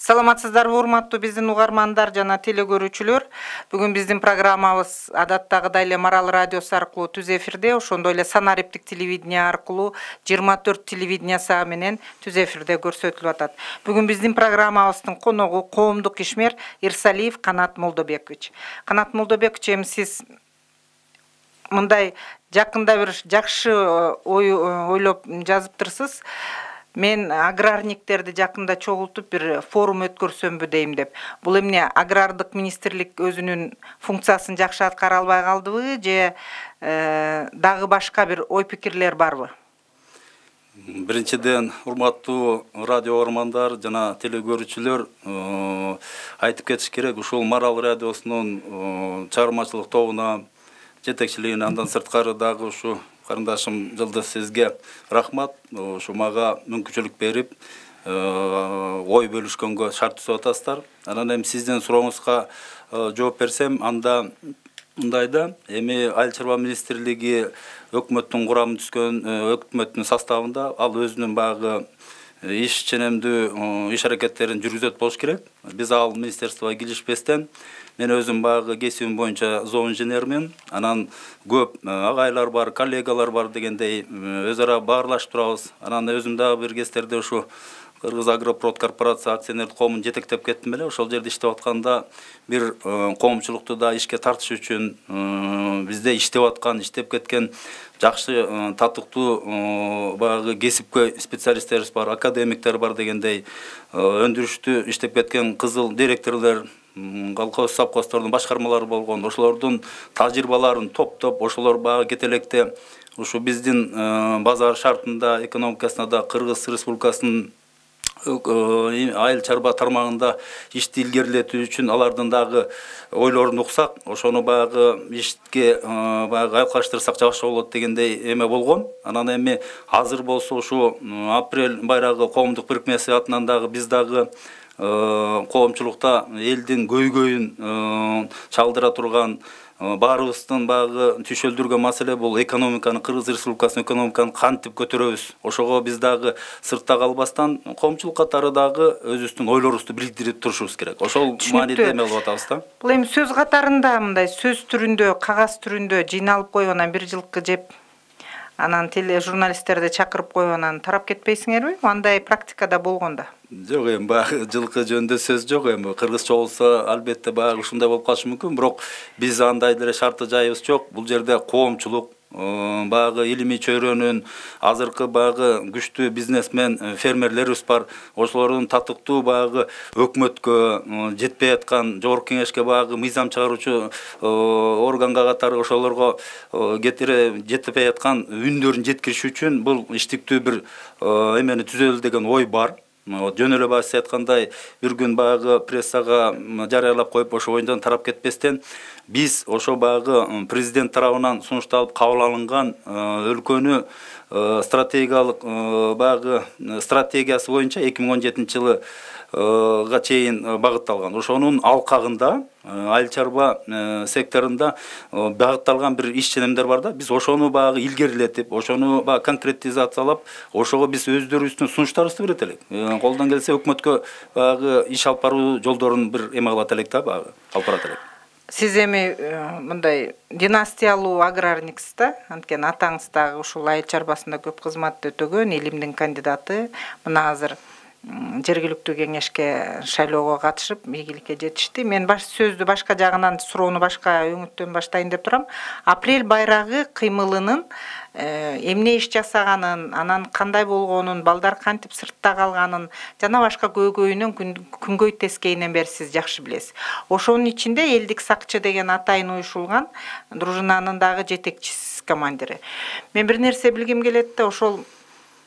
Саламатсыздарбы, урматтуу биздин угармандар жана телекөрүүчүлөр. Бүгүн биздин программабыз адаттагыдай эле Марал радиосу аркылуу түз эфирде, ошондой эле Санариптик телевидение аркылуу 24 телевидениясы менен түз эфирде көрсөтүлүп атат. Бүгүн биздин программабыздын коногу коомдук ишмер Ирсалиев Канат Молдобекович. Канат Молдобекович, эми сиз мындай жакында бир жакшы ойлоп жазыптырсыз. Мен аграрниктерди жакында чогултуп бир форум өткөрсөмбү дейм деп. Бул эмне агрардык министрлик өзүнүн функциясын жакшы аткара албай калдыбы же дагы башка бир ой пикирлер барбы? Биринчиден, урматтуу радио угармандар жана телекөрүүчүлөр, айтып кетиш керек, ушул Марал радиосунун чыгармачылык тобуна, жетекчилигине, андан сырткары дагы ушу карындашым Жылдыз сизге рахмат. Ушу мага мүмкүнчүлүк берип, ой бөлүшкөнгө шарт түзүп атасыздар. Анан эми сиздин сурооңузга жооп берсем, анда мындай да, эми Айыл чарба министрлиги өкмөттүн курамы түзгөн, өкмөттүн составында ал өзүнүн багы иш ченемдүү иш аракеттерин жүргүзөт болуш керек. Биз ал министерствого киришпестен мен өзүм багы кесибим боюнча зооинженермин. Анан көп агайлар бар, коллегалар бар дегендей өз ара баарлашып турабыз. Анан өзүм дагы бир кездерде ушу Кыргыз Агропрод корпорация акционерлик коомун жетектеп кеттим эле. Ошол жерде иштеп атканда бир коомчулукту да ишке тартыш үчүн бизде иштеп аткан, иштеп кеткен жакшы татыктуу багы кесипкөй специалисттерибиз бар, академиктер бар дегендей өндүрүштү иштеп кеткен кызыл директорлор, колхоз совхоздордун башкармалары болгон, ошолордун тажрыйбаларын топтоп, ошолор багы кетелекте ушу биздин базар шартында, экономикасына да Кыргыз Республикасынын айыл чарба тармагында ишти илгерилетүү үчүн алардын дагы ойлорун уксак, ошону багы ишке багы айкалыштырсак жакшы болот дегендей эме болгон. Анан эми азыр болсо ушу апрель байрагы коомдук бирикмеси атынан дагы биз дагы коомчулукта элдин көйгөйүн чалдыра турган, баарыбыздын багы түшөлдүргөн маселе бул экономиканы, Кыргыз Республикасынын экономиканы кантип көтөрөбүз. Ошого биз дагы сыртта калбастан коомчулук катары дагы өзүбүздүн ойлорубузду билдирип турушубуз керек. Ошол мааниде эме кылып атабыз да. Бул эми сөз катарында мындай сөз түрүндө, кагаз түрүндө жыйналып коюп анан бир жылкы жеп, анан журналисттерди чакырып коюп анан тарап кетпейсиңерби? Андай практикада болгон да. Жок, эми баягы жылкы жөнүндө сөз жок. Эми кыргызча болсо албетте баягы ушундай болуп калышы мүмкүн, бирок биз андай деле шарты жайыбыз жок. Бул жерде коомчулук, багы илимий чөйрөнүн азыркы багы күчтүү бизнесмен фермерлерибиз бар. Ошолордун татыктуу багы өкмөткө жетпей аткан, жогорку кеңешке багы мыйзам чыгаруучу органга катары ошолорго жетпей аткан үндөрүн жеткириш үчүн бул иштиктүү бир эмени түзөлү деген ой бар. Жөн эле баш айткандай, бир күн багы прессага жарыялап коюп, ошо оюндан тарап кетпестен, биз ошо багы президент тарабынан сунушталып кабыл алынган өлкөнү стратегиялык багы стратегиясы боюнча 2017 жылга чейин багытталган. Ошонун алкагында айыл чарба секторунда багытталган бир иш ченемдер бар да. Биз ошону багы илгерилетип, ошону багы конкретизациялап, ошого биз өздөрүбүздүн сунуштарыбызды берет элек. Колдон келсе өкмөткө багы иш алып баруу жолдорун бир эме кылат элек да, багы алып барат элек. Сиз эми мындай династиялуу аграрниксиз да, анткени атаңыз дагы ушул айыл чарбасында көп кызмат өтөгөн, илимдин кандидаты. Мына азыр жергиликтүү кеңешке шайлоого катышып, ийгиликке жетишти. Мен сөздү башка жагынан, суроону башка өңүттөн баштайын деп турам. Апрель байрагы кыймылынын эмне иш жасаганын, анан кандай болгонун, балдар кантип сыртта калганын жана башка көйгөйүнөн күнгөй тескейинен бери сиз жакшы билесиз. Ошонун ичинде элдик сакчы деген атайын уюшулган дружинанын дагы жетекчиси, командири. Мен бир нерсе билгим келет да, ошол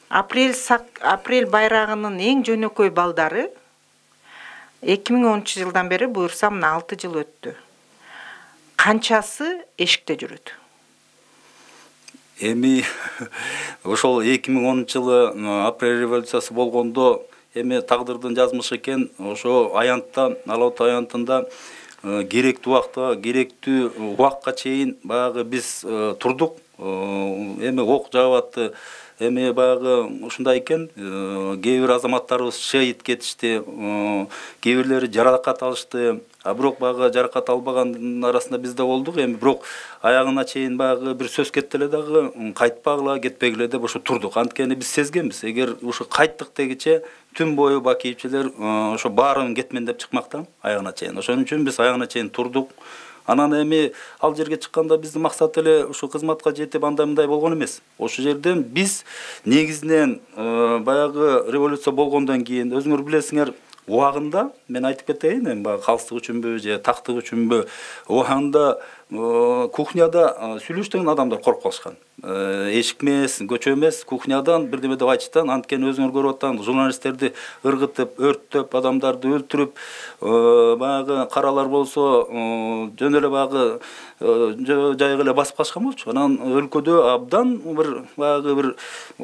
апрель байрагынын эң жөнөкөй балдары 2010 жылдан бери буюрса мына 6 жыл өттү. Канчасы эшикте жүрөт? Эми ошол 2010 жылы апрель революциясы болгондо эми тагдырдын жазмышы экен, ошо аянтта, Ала От аянтында керектүү убакта керектүү убакка чейин баягы биз турдук. Эми ок жаап атты. Эми баягы ушундай экен, кээ бир азаматтарыбыз шейит кетишти, кээ бирлери жаракат алышты. А бирок баягы жаракат албагандын арасында биз да болдук. Эми бирок аягына чейин баягы бир сөз кетти эле дагы, кайтпагыла, кетпегиле деп ошо турдук. Анткени биз сезгенбиз, эгер ушу кайттык дегиче түн бою бакийчилер ошо баарын кетмен деп чыкмакта аягына чейин. Ошон үчүн биз аягына чейин турдук. Анан эми ал жерге чыкканда биздин максат эле ушу кызматка жетип андай мындай болгон эмес. Ошол жерден биз негизинен баягы революция болгондон кийин өзүңөр билесиңер, убагында мен айтып кетейин, эми баягы калыстык үчүнбү же тактык үчүнбү, убагында кухняда сүйлөштөгөн адамдар коркуп калышкан. Эшик эмес, көчө эмес, кухнядан бирдеме деп айтыштан, анткени өзүңөр көрүп атсаңыз, журналисттерди ыргытып, өрттөп, адамдарды өлтүрүп, баягы каралар болсо жөн эле баягы жайга эле басып калышкан болчу. Анан өлкөдө абдан бир баягы бир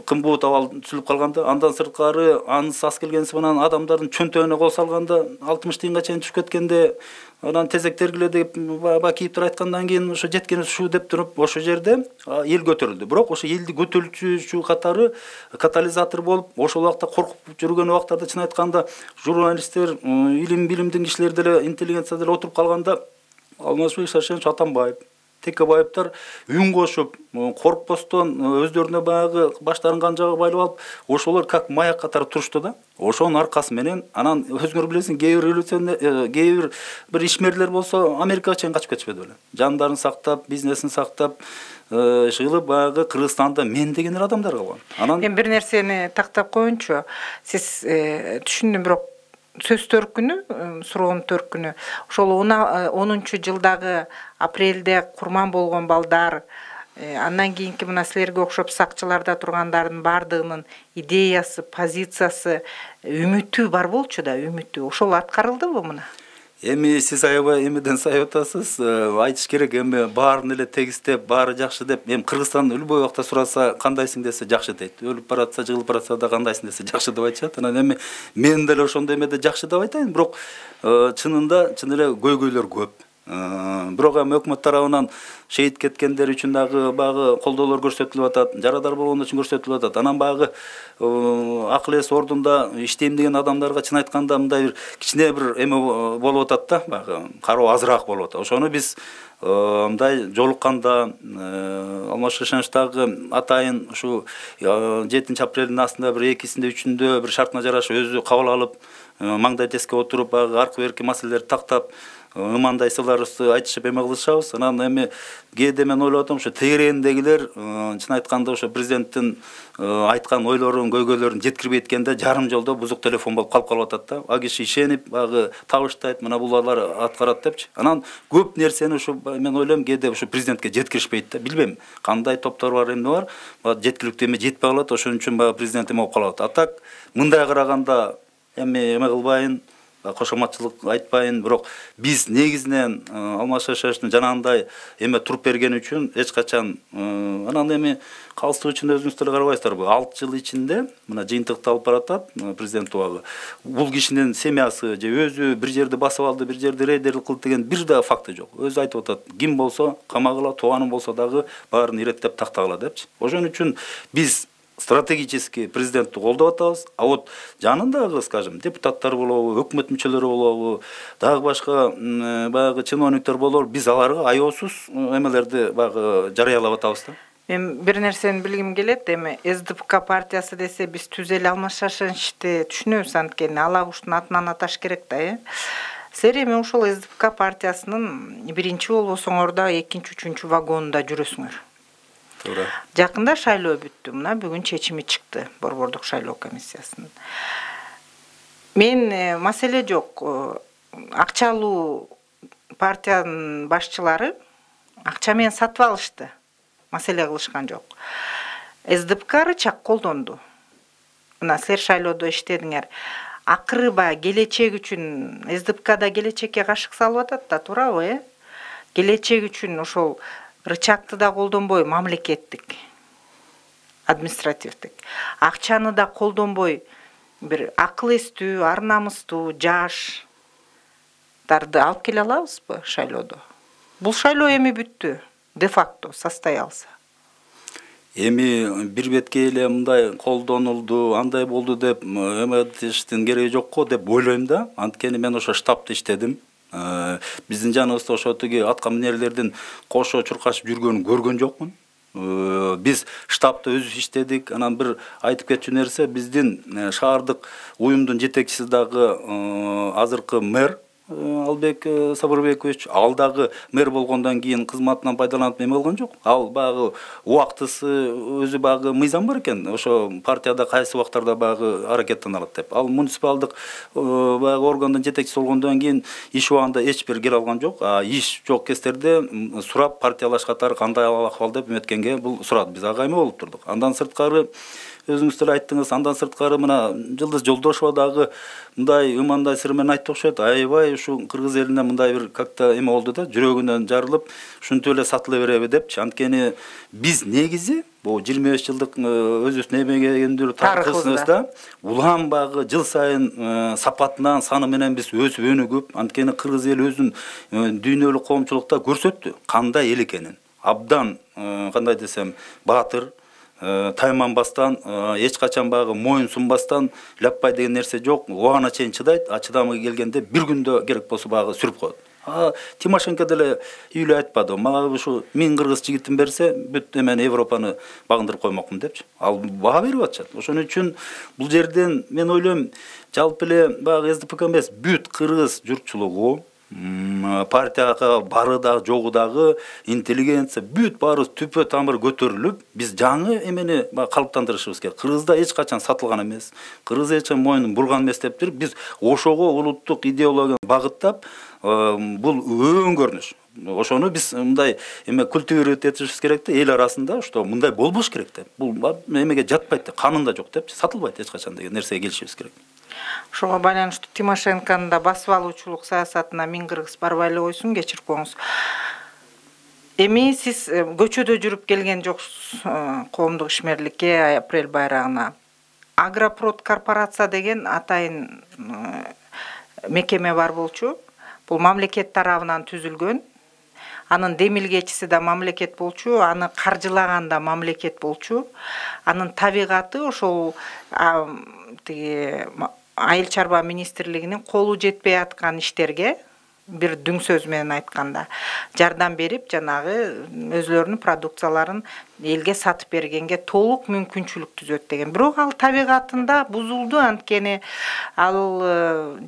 кымбат абал түзүлүп калганда, андан сырткары аңыз ас келгенси менен адамдардын чөнтөгүнө кол салганда 60 тыйынга чейин түшүп кеткенде, анан тезек тергиле деп бакийиптер айткандан кийин ошо жеткен ушу деп туруп ошол жерде эл көтөрүлдү. Бирок ошо элди көтөрүүчү катары катализатор болуп, ошол убакта коркуп жүргөн убактарда чын айтканда журналисттер, билимдин кишилери деле, интеллигенция деле отуруп калганда, Алмазбек Шаршенович Атамбаев, Текебаевдер үн кошуп, коркпостон өздөрүнө баягы баштарын канжага байлап алып, ошолор как маяк катары турушту да. Ошонун аркасы менен анан өзүңөр билесиң, кээ бир ишмерлер болсо Америкага чейин качып кетишпеди беле. Жандарын сактап, бизнесин сактап, жыгылып баягы Кыргызстанда мен деген адамдар калган. Анан Мен бир нерсени тактап коеюнчу. Сиз түшүндүм, бирок сөз төркүнү, суроонун төркүнү, ошол 10-жылдагы апрелде курман болгон балдар, андан кийинки мына силерге окшоп сакчыларда тургандардын баардыгынын идеясы, позициясы, үмүтү бар болчу да, үмүтү. Ошол аткарылдыбы мына? Эми сиз аябай эмеден сайып атасыз, айтыш керек, эми баарын эле тегистеп, баары жакшы деп, эми Кыргызстан любой убакта сураса, кандайсың десе жакшы дейт. Өлүп баратса, жыгылып баратса да кандайсың десе жакшы деп айтышат. Анан эми мен деле ошондой эмеде жакшы деп айтайын, бирок чынында чын эле көйгөйлөр көп. Бирок эми өкмөт тарабынан шейит кеткендер үчүн дагы баягы колдоолор көрсөтүлүп атат, жарадар болгон үчүн көрсөтүлүп атат. Анан баягы акыл эс ордунда иштейм деген адамдарга чын айтканда мындай бир кичине бир эме болуп атат да, баягы кароо азыраак болуп атат. Ошону биз мындай жолукканда Алмазбек Шаршеновичтагы атайын ушу 7-апрелдин астында бир 2-синде 3-үндө бир шартына жараша өзү кабыл алып, маңдай теске отуруп, баягы аркы берки маселелерди тактап, ымандай сыларыбызды айтышып эме кылышабыз. Анан эми кээде мен ойлоп атам, ошо тегерегиндегилер чын айтканда ошо президенттин айткан ойлорун, көйгөйлөрүн жеткирбей эткенде жарым жолдо бузук телефон болуп калып атат да. А киши ишенип, баягы табыштайт, мына бул алар аткарат депчи. Анан көп нерсени ошо мен ойлойм, кээде ошо президентке жеткиришпейт да. Билбейм, кандай топтор бар, эмне бар, жеткиликтүү эме жетпей калат, ошон үчүн баягы президент эме болуп калат. А так мындай караганда эме кылбайын, кошоматчылык айтпайын, бирок биз негизинен Алмазбек Шаршеновичтин жанагындай эме туруп берген үчүн эч качан анан эми калыстык үчүн өзүңүз деле карабайсыздарбы, 6 жыл ичинде мына жыйынтыкты алып баратат президент убагы. Бул кишинин семьясы же өзү бир жерди басып алды, бир жерди рейдерлик кылды деген бир да факты жок. Өзү айтып атат, ким болсо камагыла, тууганым болсо дагы баарын иреттеп тактагыла депчи. Ошон үчүн биз стратегически президентти колдоп атабыз. А вот жанындагы, скажем, депутаттар болобу, өкмөт мүчөлөрү болобу, дагы башка баягы чиновниктер болобу, биз аларга аяосуз эмелерди баягы жарыялап атабыз да. Мен бир нерсени билгим келет, эми СДПК партиясы десе биз түз эле Алмазбек Шаршеновичти түшүнөбүз, анткени ала куштун атынан аташ керек да, Силер эми ошол СДПК партиясынын биринчи болбосоңор да 2-3 вагонунда жүрөсүңөр. Жакында шайлоо бүттү. Мына бүгүн чечими чыкты Борбордук шайлоо комиссиясынын. Мен маселе жок. Акчалуу партиянын башчылары акча менен сатып алышты. Маселе кылышкан жок. СДПК чак колдонду. Мына силер шайлоодо иштедиңер. Акыры баягы келечек үчүн СДПКда келечекке кашык салып атат да, туурабы, Келечек үчүн ошол рычагты да колдонбой, мамлекеттик, административдик. Акчаны да колдонбой, бир акыл эстүү, ар намыстуу, жаш, депутаттарды алып келе алабызбы шайлоодо? Бул шайлоо эми бүттү, де факто состоялся. Эми бир бетке эле мындай колдонулду, андай болду деп эметиштин кереги жок го деп ойлойм да. Анткени мен ошо штабта иштедим. Биздин жаныбызда ошо тиги атка минерлердин кошо чуркашып жүргөнүн көргөн жокмун. Биз штабта өзүбүз иштедик. Анан бир айтып кетчү нерсе, биздин шаардык уюмдун жетекчиси дагы азыркы мэр Албек Сабырбекович, ал дагы мэр болгондон кийин кызматынан пайдаланып эме болгон жок. Ал багы убактысы өзү багы мыйзам бар экен. Ошо партияда кайсы убактарда багы аракеттен алат деп. Ал муниципалдык багы органдын жетекчиси болгондон кийин иш убагында эч бир кире алган жок. Иш жок кездерде сурап партиялаш катары кандай акыбал деп эметкенге бул сурат. Биз ага эме болуп турдук. Андан сырткары өзүңүз деле айттыңыз, андан сырткары мына Жылдыз Жолдошова дагы мындай ымандай сыр менен айтты окшойт. Аябай ушу кыргыз элине мындай бир как-то эме болду да, жүрөгүнөн жарылып, ушинтип эле сатыла береби депчи. Анткени биз негизи бул 25 жылдык өзүбүздүн эмегендүү тарыхыбызда улам багы жыл сайын сапатынан, саны менен биз өсүп өнүгүп, анткени кыргыз эли өзүн дүйнөлүк коомчулукта көрсөттү кандай эл экенин. Абдан кандай десем, баатыр, тайманбастан, эч качан багы моюн сунбастан, ляппай деген нерсе жок, убагына чейин чыдайт, чыдамы келгенде бир күндө керек болсо багы сүрүп коет. Тимошенко деле үйлө айтпады, мага ушу 1000 кыргыз жигитин берсе, бүт эмени Европаны багындырып коймокмун депчи. Ал баа берип атышат. Ошон үчүн бул жерден мен ойлойм, жалпы эле багы СДПК эмес, бүт кыргыз журтчулугу, партияга бары дагы жогу дагы интеллигенция бүт баарыбыз түпө тамыр көтөрүлүп, биз жаңы эмени калыптандырышыбыз керек. Кыргызда эч качан сатылган эмес, кыргыз эч качан моюнун бурган эмес деп туруп, биз ошого улуттук идеологияны багыттап, бул өң көрүнүш. Ошону биз мындай эме культивировать этишибиз керек да, эл арасында, что мындай болбош керек деп. Бул эмеге жатпайт деп, канында жок деп, сатылбайт эч качан деген нерсеге келишибиз керек. Ошого байланыштуу Тимошенконун да басып алуучулук саясатына 1000 кыргыз барбай эле койсун, кечирип коюңуз. Эми сиз көчөдө жүрүп келген жоксуз коомдук ишмерликке, апрель байрагына. Агропрод корпорация деген атайын мекеме бар болчу. Бул мамлекет тарабынан түзүлгөн. Анын демилгечиси да мамлекет болчу, аны каржылаган да мамлекет болчу. Анын табигаты ошол тиги Айыл чарба министрлигинин колу жетпей аткан иштерге, бир дүң сөз менен айтканда, жардам берип, жанагы өзлөрүнүн продукцияларын элге сатып бергенге толук мүмкүнчүлүк түзөт деген. Бирок ал табигатында бузулду, анткени ал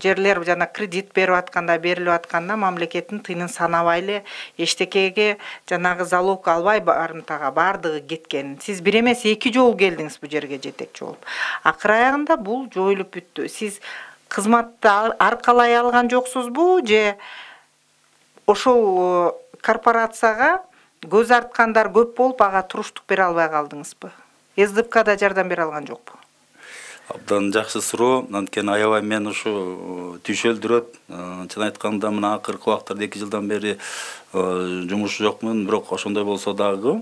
жерлер жана кредит берип атканда, берилип атканда мамлекеттин тыйнын санабай эле эчтекеге жанагы залог албай барымтага бардыгы кеткен. Сиз бир эмес 2 жолу келдиңиз бу жерге жетекчи болуп. Акыр аягында бул жоюлуп бүттү. Сиз кызматты аркалай алган жоксузбу же ошол корпорацияга көз арткандар көп болуп, ага туруштук бере албай калдыңызбы? СДПК да жардам бере алган жокпу? Абдан жакшы суроо. Анткени аябай мен ушу түйшөлдүрөт. Чын айтканда мына акыркы убактарда 2 жылдан бери жумуш жокмун, бирок ошондой болсо дагы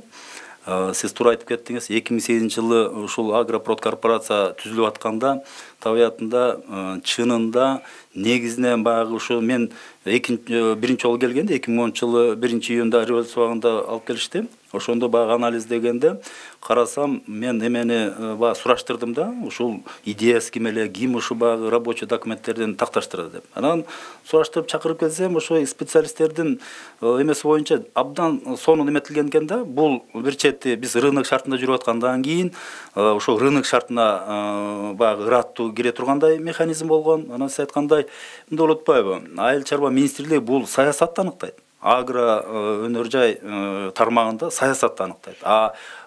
сиз туура айтып кеттиңиз. 2008-жылы ушул Агропрод корпорация түзүлүп атканда табиятында чынында негизинен багы ушу мен биринчи жолу келгенде 2010-жылы 1-июнда революция убагында алып келишти. Ошондо багы анализдегенде карасам, мен эмени багы сураштырдым да, ушул идеясы ким эле, ким ушу багы рабочий документтерден такташтырды деп. Анан сураштырып чакырып келсем, ошо специалисттердин эмеси боюнча абдан сонун эметилген экен да. Бул бир чети биз рынок шартында жүрүп аткандан кийин ошо рынок шартына багы ыраттуу кире тургандай механизм болгон. Анан сиз айткандай, мындай болуп атпайбы? Айыл чарба министрлиги бул саясатты аныктайт. Агро өнөр жай тармагында саясатты аныктайт.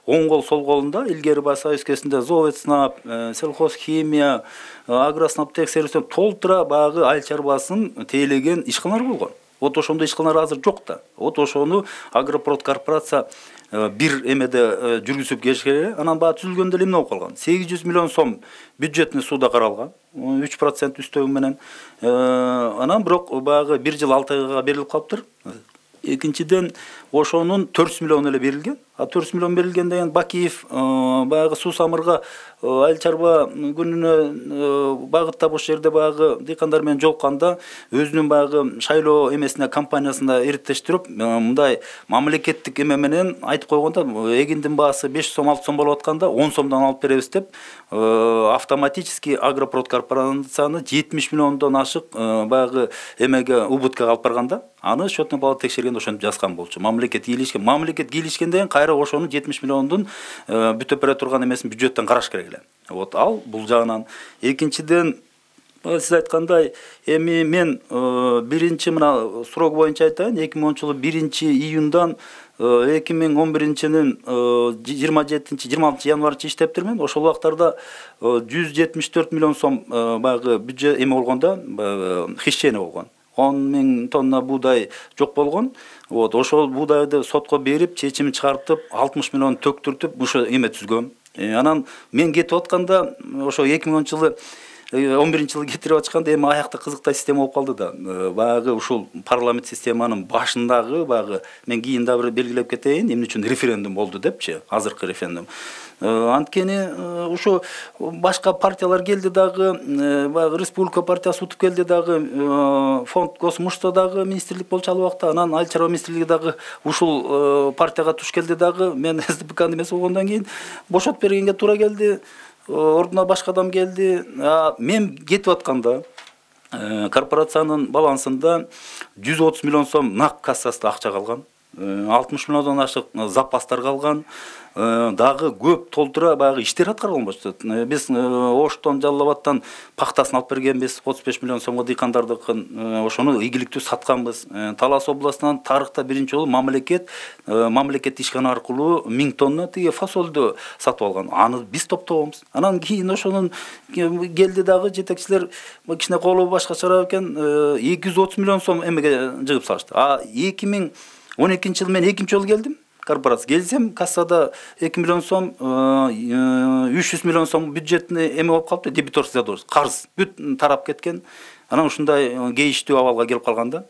Оң кол сол колунда илгери Союз кезинде Зооветснаб, сельхозхимия, агроснаб текшерүүсүн толтура багы айыл чарбасын тейлеген ишканалар болгон. Вот ошондой ишканалар азыр жок да. Вот ошону Агропрод корпорация бир эмеде жүргүзүп келишкере, анан баа түзүлгөндө эле эмне болуп калган? 800 миллион сом бюджетный суда каралган, 3% үстөгү менен. Анан бирок багы 1 жыл 6 айга берилип калыптыр. Экинчиден, ошонун 400 миллион эле берилген. 400 миллион берилген деген Бакиев баягы суу самырга айыл чарба күнүнө багыттап ошол жерде баягы дыйкандар менен жолукканда өзүнүн баягы шайлоо эмесине компаниясында иреттештирип мындай мамлекеттик эме менен айтып койгондо эгиндин баасы 5 сом 6 сом болуп атканда 10 сомдон алып беребиз деп автоматически Агропрод корпорацияны 70 миллиондон ашык баягы эмеге убыткага алып барганда аны счетный палата текшергенде ошентип жазган болчу. Мамлекет кийлишкен деген кайра ошонун 70 миллиондун бүтөп бере турган эмесин бюджеттен караш керек эле. Вот ал бул жагынан. Экинчиден сиз айткандай эми мен биринчи мына срок боюнча айтайын, 2010-жылы 1-июндан 2011-жылдын 27-26 январча иштептирмин. Ошол убактарда 174 миллион сом баягы бюджет эме болгондо хищение болгон. 10 000 тонна буудай жок болгон. Вот ошол буудайды сотко берип, чечимин чыгартып, 60 миллион төктүртүп, ошо эме түзгөм. Анан мен кетип атканда ошо 2010-жылы 11-жылы кетирип ачканда эми аякта кызыктай система болуп калды да. Баягы ушул парламент системанын башындагы баягы мен кийин да бир белгилеп кетейин, эмне үчүн референдум болду депчи, азыркы референдум. Анткени ушу башка партиялар келди дагы, баягы республика партиясы утуп келди дагы, фонд Госмушта дагы министрлик болчу ал убакта, анан айыл чарба министрлиги дагы ушул партияга туш келди дагы. Мен СДПК эмес болгондон кийин бошотуп бергенге туура келди. Ордуна башка адам келди. Мен кетип атканда корпорациянын балансында 130 миллион сом нак кассасында акча калган. 60 миллиондон ашык запастар калган. Дагы көп толтура баягы иштер аткарылган болчу. Биз Оштон, Жалал Абадтан пахтасын алып бергенбиз, 35 миллион сомго дыйкандардыкын, ошону ийгиликтүү сатканбыз. Талас областынан тарыхта биринчи жолу мамлекет ишкана аркылуу 1000 тонна тиги фасолду сатып алган. Аны биз топтобойбуз. Анан кийин ошонун келди дагы жетекчилер кичине колу башкачараак экен, 230 миллион сом эмеге жыгып салышты. 2012-жылы мен экинчи жолу келдим. Корпорация келсем, кассада 2 миллион сом, 300 миллион сом бюджетне эме болуп калыптыр, дебиторский задолженность, карыз бүт тарап кеткен. Анан ушундай кейиштүү абалга келип калганда,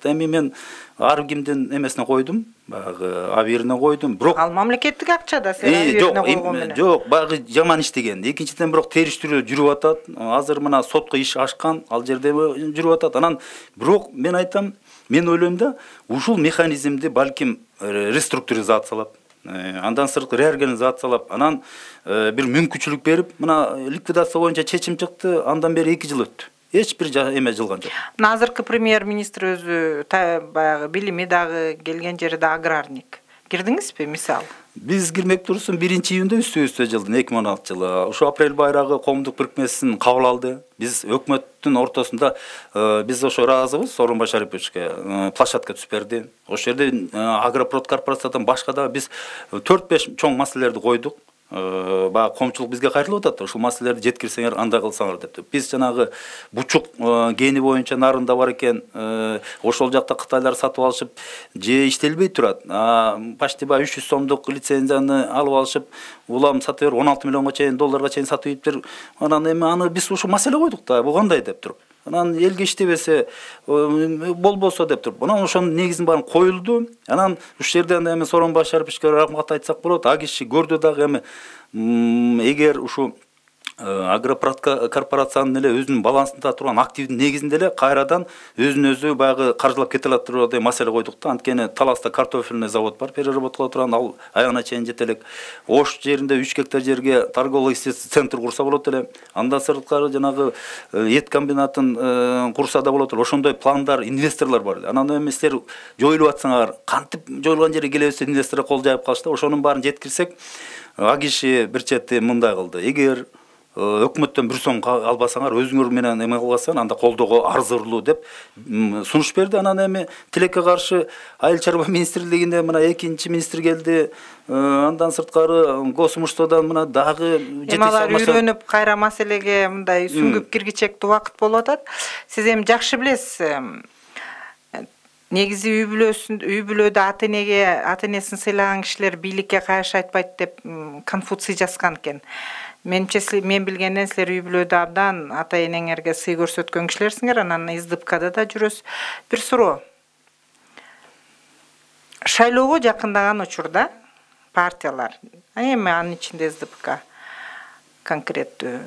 эми мен ар кимдин эмесине койдум, баягы абирине койдум. Бирок ал мамлекеттик акча да сен абирине койгон менен. Жок, баягы жаман иштеген. Экинчиден бирок териштирүү жүрүп атат. Азыр мына сотко иш ашкан, ал жерде жүрүп атат. Анан бирок мен айтам, мен ойлойм да, ушул механизмди балким реструктуризациялап, андан сырткы реорганизациялап, анан бир мүмкүнчүлүк берип, мына ликвидация боюнча чечим чыкты, андан бери 2 жыл өттү. Эч бир эме жылган жок. Мына азыркы премьер-министр өзү баягы билими дагы, келген жери да аграрник. Кирдиңизби мисалы? Биз кирмек турсун 1-июнда үстө жылдын 2016-жылы ушу апрель байрагы коомдук бирикмесин кабыл алды. Биз өкмөттүн ортосунда биз ошо ыраазыбыз, Сооронбай Шариповичке площадка түзүп берди. Ошол жерде Агропрод корпорациядан башка да биз 4-5 чоң маселелерди койдук. Баягы коомчулук бизге кайрылып атат. Ушул маселелерди жеткирсеңер, андай кылсаңар деп. Биз жанагы бучук гени боюнча нарында бар экен, ошол жакта кытайлар сатып алышып, же иштелбей турат. Почти 300 сомдук лицензияны алып алышып, улам сатып берип 16 миллионго чейин, долларга чейин сатып ийиптир. Анан эми аны биз ушу маселе койдук да, бу кандай деп туруп. Анан элге иштебесе болбосо деп туруп. Анан ошонун негизин баарын коюлду. Анан ушул жерден эми Сооронбай Шариповичке рахмат айтсак болот. А киши көрдү дагы эми эгер ушу Агропрод корпорациянын эле өзүнүн балансында турган активдин негизинде эле кайрадан өзүн өзү баягы каржылап кете алат тургандай маселе койдук да. Анткени Таласта картофельный завод бар, переработкалоо турган, ал аягына чейин жете элек. Ош жеринде 3 гектар жерге торгово-исследовательский центр курса болот эле. Андан сырткары жанагы эт комбинатын курса да болот эле. Ошондой пландар, инвесторлор бар эле. Анан эми силер жоюлуп атсаңар, кантип жоюлган жерге келебиз деп инвестор кол жайып калышты. Ошонун баарын жеткирсек, а киши бир чети мындай кылды. Эгер өкмөттөн 1 сом албасаңар, өзүңөр менен эме кылбасаң, анда колдоого арзырлуу деп сунуш берди. Анан эми тилекке каршы айыл чарба министрлигинде мына экинчи министр келди. Андан сырткары Госмуштадан мына дагы алар үйрөнүп кайра маселеге мындай сүңгүп киргичектүү убакыт болуп атат. Сиз эми жакшы билесиз. Негизи үй бүлөдө ата энесин сыйлаган кишилер бийликке кайшы айтпайт деп Конфуций жазган экен. Мен билгенден силер үй бүлөдө абдан ата энеңерге сый көрсөткөн кишилерсиңер, анан СДПКда да жүрөсүз. Бир суроо. Шайлоого жакындаган учурда партиялар, эми анын ичинде СДПК конкреттүү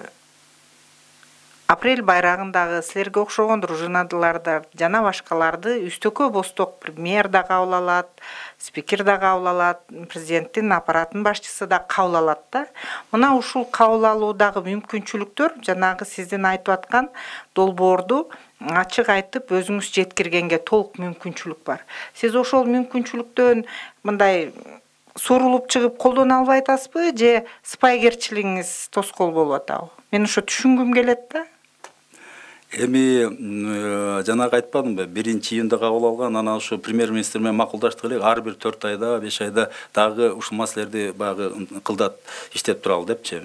апрель байрагындагы силерге окшогон дружинадыларды жана башкаларды үстөккө босток премьер да кабыл алат, спикер да кабыл алат, президенттин аппаратынын башчысы да кабыл алат да. Мына ушул кабыл алуудагы мүмкүнчүлүктөр жанагы сиздин айтып аткан долбоорду ачык айтып өзүңүз жеткиргенге толук мүмкүнчүлүк бар. Сиз ошол мүмкүнчүлүктөн мындай сурулуп чыгып колдоно албай атасызбы же сыпайгерчилигиңиз тоскоол болуп атабы? Мен ошо түшүнгүм келет да. Эми жанагы айтпадымбы, 1-июнда кабыл алган, анан ушу премьер-министр менен макулдаштык элек, ар бир 4 айда, 5 айда дагы ушул маселелерди багы кылдат, иштеп туралы депчи,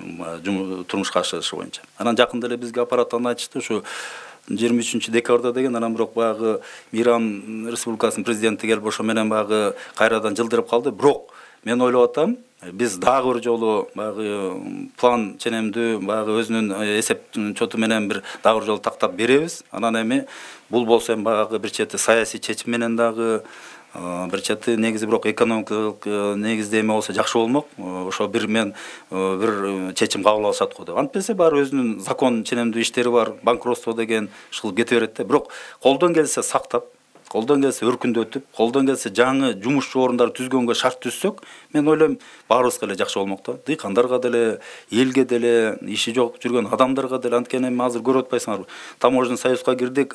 турмушка ашырышы боюнча. Анан жакында эле бизге аппараттан айтышты, ушу 23-декабрда деген, анан бирок багы Иран Республикасынын президенти келип ошо менен багы кайрадан жылдырып калды. Бирок мен ойлоп атам, биз дагы бир жолу багы план ченемдүү, багы өзүнүн эсеп чоту менен бир дагы бир жолу тактап беребиз. Анан эми бул болсо эми багы бир чети саясий чечим менен дагы, бир чети негизи бирок экономикалык негизде эме болсо жакшы болмок. Ошо бир чечим кабыл алышат го деп. Антпесе баары өзүнүн закон ченемдүү иштери бар, банкротство деген ушул кете берет да. Бирок колдон келсе сактап, колдон келсе өркүндөтүп, колдон келсе жаңы жумушчу орундарды түзгөнгө шарт түзсөк, мен ойлойм баарыбызга эле жакшы болмок да. Дыйкандарга деле, элге деле, иши жок жүргөн адамдарга деле. Анткени эми азыр көрүп атпайсыңарбы? Таможенный союзга кирдик,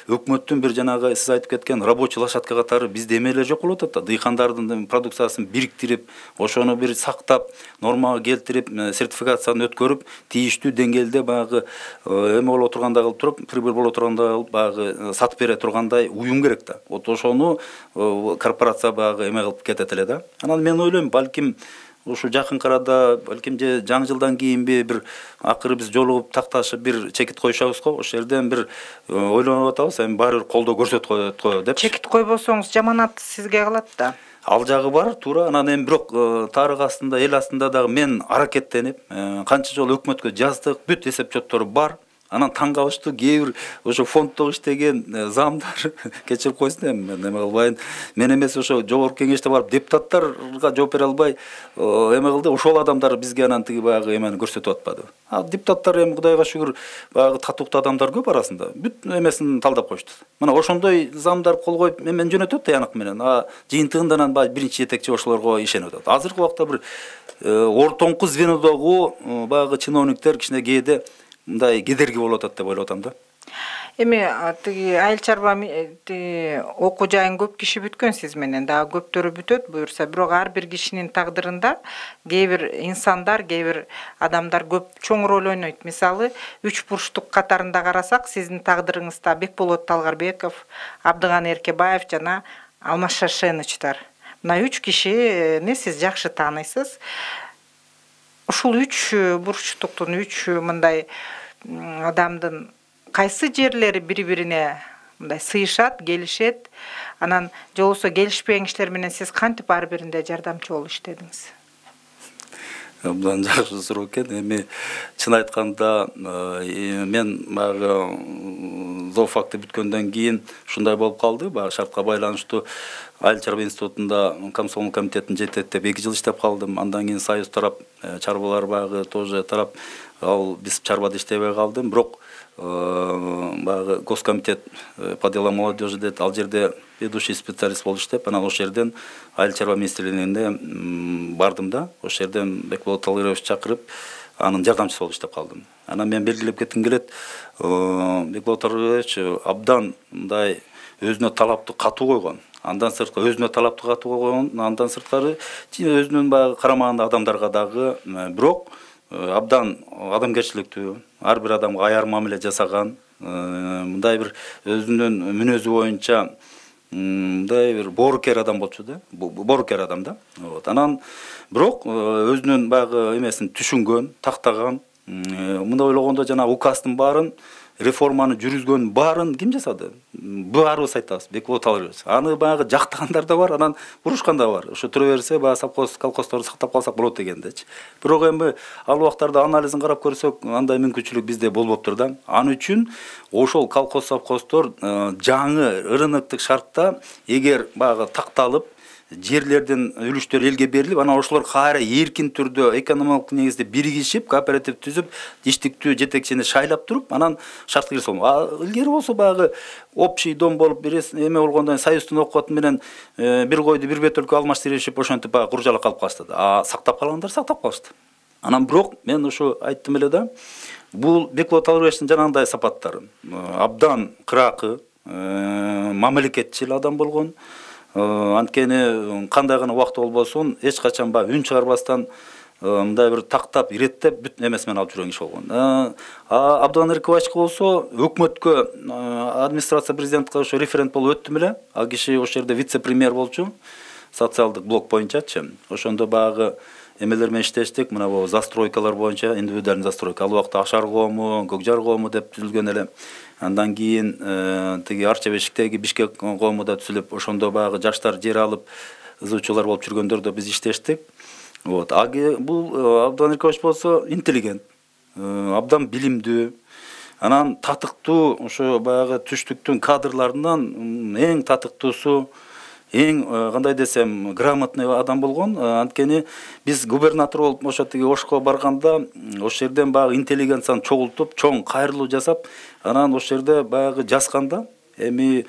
өкмөттүн бир жанагы сиз айтып кеткен рабочий лошадка катары бизде эме эле жок болуп атат да. Дыйкандардын продукциясын бириктирип, ошону бир сактап, нормага келтирип, сертификацияны өткөрүп, тийиштүү деңгээлде багы эме боло тургандай кылып туруп, прибыль боло тургандай кылып багы сатып бере тургандай уюм керек да. Вот ошону корпорация багы эме кылып кетет эле да. Анан мен ойлойм, балким ушу жакынкы арада, балким же жаңы жылдан кийинби бир акыры биз жолугуп такташып бир чекит коюшабыз го. Ошол жерден бир ойлонуп атабыз, эми баары бир колдоо көрсөтүп коет го деп. Чекит койбосоңуз жаманат сизге калат да. Ал жагы бар, туура. Анан эми бирок тарых астында, эл астында дагы мен аракеттенип, канча жолу өкмөткө жаздык, бүт эсеп чоттор бар. Анан таң калыштуу, кээ бир ошо фонддо иштеген замдар кечирип койсун, эми мен эме кылбайын. Мен эмес ошо жогорку кеңеште барып депутаттарга жооп бере албай эме кылды. Ошол адамдар бизге анан тиги багы эмени көрсөтүп атпады. Депутаттар эми Кудайга шүгүр багы татыктуу адамдар көп арасында. Бүт эмесин талдап коюшту. Мына ошондой замдар кол коюп эмени жөнөтөт таянак менен. Жыйынтыгында анан биринчи жетекчи ошолорго ишенип атат. Азыркы убакта бир ортоңку звенодогу багы чиновниктер кичине кээде мындай кедерги болуп атат деп ойлоп атам да. Эми тиги айыл чарба окуу жайын көп киши бүткөн сиз менен, дагы көптөрү бүтөт буюрса, бирок ар бир кишинин тагдырында кээ бир инсандар, кээ бир адамдар көп чоң роль ойнойт. Мисалы, 3 бурчтук катарында карасак, сиздин тагдырыңызда Бекболот Талгарбеков, Абдыган Эркебаев жана Алмаз Шашенычтар. Мына 3 кишини сиз жакшы тааныйсыз. Ушул 3 бурчтуктун, 3 мындай адамдын кайсы жерлери бири-бирине мындай сыйышат, келишет? Анан же болбосо келишпеген кишилер менен сиз кантип ар бириндे жардамчы болуп иштедиңиз? Абдан жакшы суроо экен. Эми чын айтканда мен баягы зоофакты бүткөндөн кийин ушундай болуп калды. Баягы шартка байланыштуу Айыл чарба институтунда комсомол комитетин жетектеп 2 жыл иштеп калдым. Андан кийин союз тарап, чарбалар багы тоже тарап, ал биз чарбада иштебей калдым. Бирок багы госкомитет по делам молодежи дейт, ал жерде ведущий специалист болуп иштеп, анан ошол жерден айыл чарба министрлигине бардым да. Ошол жерден Бекболот Талгарович чакырып, анын жардамчысы болуп иштеп калдым. Анан мен белгилеп кетким келет, Бекболот Талгарович абдан мындай өзүнө талапты катуу койгон. Андан сырткары өзүнө талапты катуу койгон, андан сырткары өзүнүн баягы карамагында адамдарга дагы, бирок абдан адамгерчиликтүү, ар бир адамга аяр мамиле жасаган, мындай бир өзүнүн мүнөзү боюнча мындай бир боорукер адам болчу да, боорукер адам да. Анан бирок өзүнүн баягы эмесин түшүнгөн, тактаган, мындай ойлогондо жана указдын баарын, реформаны жүргүзгөн баарын ким жасады? Баарыбыз айтабыз, Бекболот Талгарович. Аны баягы жактагандар да бар, анан бурушкан да бар. Ошо тура берсе, баягы совхоз, колхоздорду сактап калсак болот дегендечи. Бирок эми ал убактарда анализин карап көрсөк, андай мүмкүнчүлүк бизде болбоптур да. Аны үчүн ошол колхоз, совхоздор жаңы рыноктук шартта эгер баягы такталып, жерлердин үлүштөрү элге берилип, анан ошолор кайра эркин түрдө экономикалык негизде биригишип, кооператив түзүп, иштиктүү жетекчини шайлап туруп, анан шартка кирсе болмок. Илгери болсо баягы общий дом болуп эме болгондон союздун окуаты менен бир койду бир бөтөлкө алмаштырышып, ошентип баягы куржала калып калышты. Сактап калгандар сактап калышты. Анан бирок мен ушу айттым эле да, бул Бекболот Алыбековичтин жанагындай сапаттары абдан кыракы, мамлекетчил адам болгон. Анткени кандай гана убакыт болбосун, эч качан баягы үн чыгарбастан мындай бир тактап, иреттеп бүт эмеси менен алып жүргөн киши болгон. Абдыган Эркебаевичке болсо өкмөткө, администрация президентке ошо референт болуп өттүм эле. Ал киши ошол жерде вице-премьер болчу, социалдык блок боюнчачы. Ошондо баягы эмелер менен иштештик, мына бул застройкалар боюнча, индивидуальный застройка. Ал убакта Ашар коому, Көкжар коому деп түзүлгөн эле. Андан кийин тиги Арча бешиктеги Бишкек коому да түзүлүп, ошондо баягы жаштар жер алып ызуучулар болуп жүргөндөр да биз иштештик. Бул Абдыган Эркебаевич болсо интеллигент, абдан билимдүү, анан татыктуу, ошо баягы түштүктүн кадрларынан эң татыктуусу, эң кандай десем грамотный адам болгон. Анткени биз губернатор болуп ошо тиги Ошко барганда ошол жерден баягы интеллигенцияны чогултуп, чоң кайрылуу жасап, анан ошол жерде баягы жазганда эми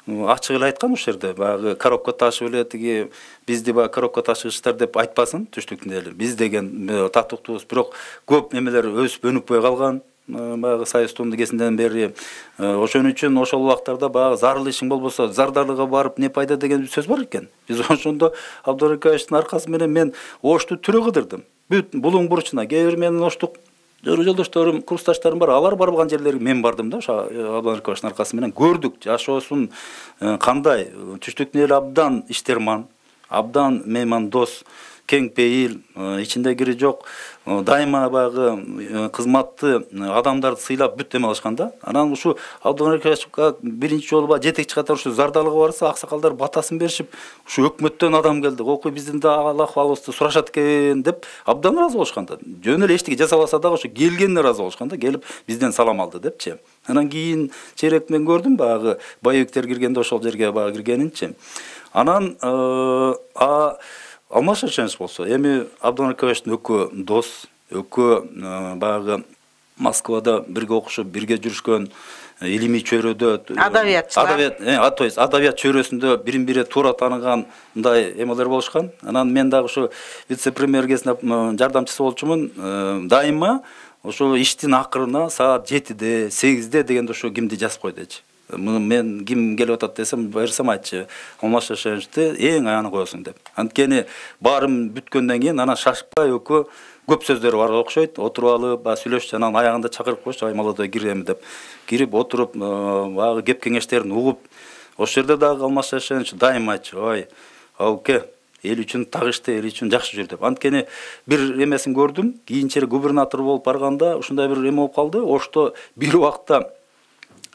ачык эле айткан, ошол жерде баягы коробка ташып эле тиги бизди баягы коробка ташыгычтар деп айтпасын түштүктүн эли. Биз деген татыктуубуз, бирок көп эмелер өсүп өнүкпөй калган. Баягы союздун кезинден бери ошон үчүн ошол убактарда баягы зарыл ишиң болбосо зардалыга барып не пайда деген сөз бар экен. Биз ошондо Абдыган Эркебаевичтин аркасы менен мен Ошту түрө кыдырдым. Бүт булуң бурчуна кээ бир менин Оштук жолдошторум, курсташтарым бар, алар барбаган жерлерге мен бардым да, ошо Абдыган Эркебаевичтин аркасы менен көрдүк жашоосун кандай. Түштүктүн эли абдан иштерман, абдан меймандос, кең пейил, ичинде кири жок, дайыма баягы кызматты адамдарды сыйлап бүт эме алышкан да. Анан ушу Абдыган Эркебаевичке биринчи жолу баягы жетекчи катары ушу зардалыга барса, аксакалдар батасын беришип, ушу өкмөттөн адам келди, окуй биздин да ахвалыбызды сурашат экен деп абдан ыраазы болушкан да. Жөн эле эчтеке жасабаса дагы ошо келгенине ыраазы болушкан да, келип бизден салам алды депчи. Анан кийин чейрек мен көрдүм баягы боевиктер киргенде ошол жерге баягы киргенинчи. Анан Алмаз Шаршенович болсо эми Абдыган Эркебаевичтин экөө дос, экөө баягы Москвада бирге окушуп, бирге жүрүшкөн, илимий чөйрөдө адабиятчылар. То есть адабият чөйрөсүндө бирин-бири туура тааныган мындай эмелер болушкан. Анан мен дагы ушу вице-премьер кезинде жардамчысы болчумун. Дайыма ошо иштин акырына саат 7-де, 8-де дегенде ошо кимди жазып кой дечи. Мен ким келип атат десем, берсем айтчы, Алмаз Шаршеновичти эң аяны коесуң деп. Анткени баарым бүткөндөн кийин анан шашпай экөө көп сөздөрү бар окшойт, отуруп алып, сүйлөшүп, анан аягында чакырып койчу, ай молодой кирем деп. Кирип отуруп, баягы кеп кеңештерин угуп, ошол жерде дагы Алмаз Шаршенович дайыма айтчы, ой, ауке, эл үчүн так иште, эл үчүн жакшы жүр деп. Анткени бир эмесин көрдүм, кийинчерээк губернатор болуп барганда ушундай бир эме болуп калды. Ошто бир убакта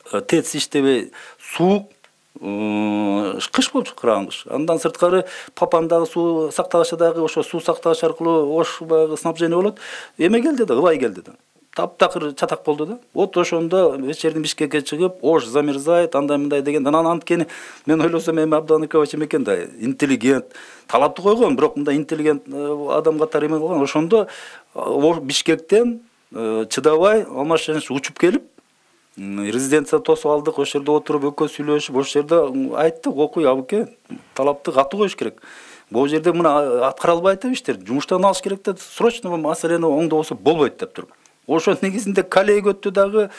ТЭЦ иштебей, суук, кыш болчу, кырган кыш. Андан сырткары Папандагы суу сактагычы дагы ошо суу сактагыч аркылуу Ош баягы снабжение болот. Эме келди да, ылай келди да. Таптакыр чатак болду да. Вот ошондо вечердин Бишкекке чыгып, Ош замерзает, андай мындай деген. Анан анткени мен ойлосом эми Абдыган Эркебаевич экен да, интеллигент, талапты койгон, бирок мындай интеллигент адам катары эме кылган. Ошондо Бишкектен чыдабай Алмаз Шаршенович учуп келип, резиденция тосуп алдык, ошол жерде отуруп экөө сүйлөшүп, ошол жерде айттык, окуй абыке, талапты катуу коюш керек. Бул жерде мына аткара албайт деп иштер, жумуштан алыш керек деп, срочно маселени оңдобосо болбойт деп туруп. Ошол негизинде коллега өттү дагы,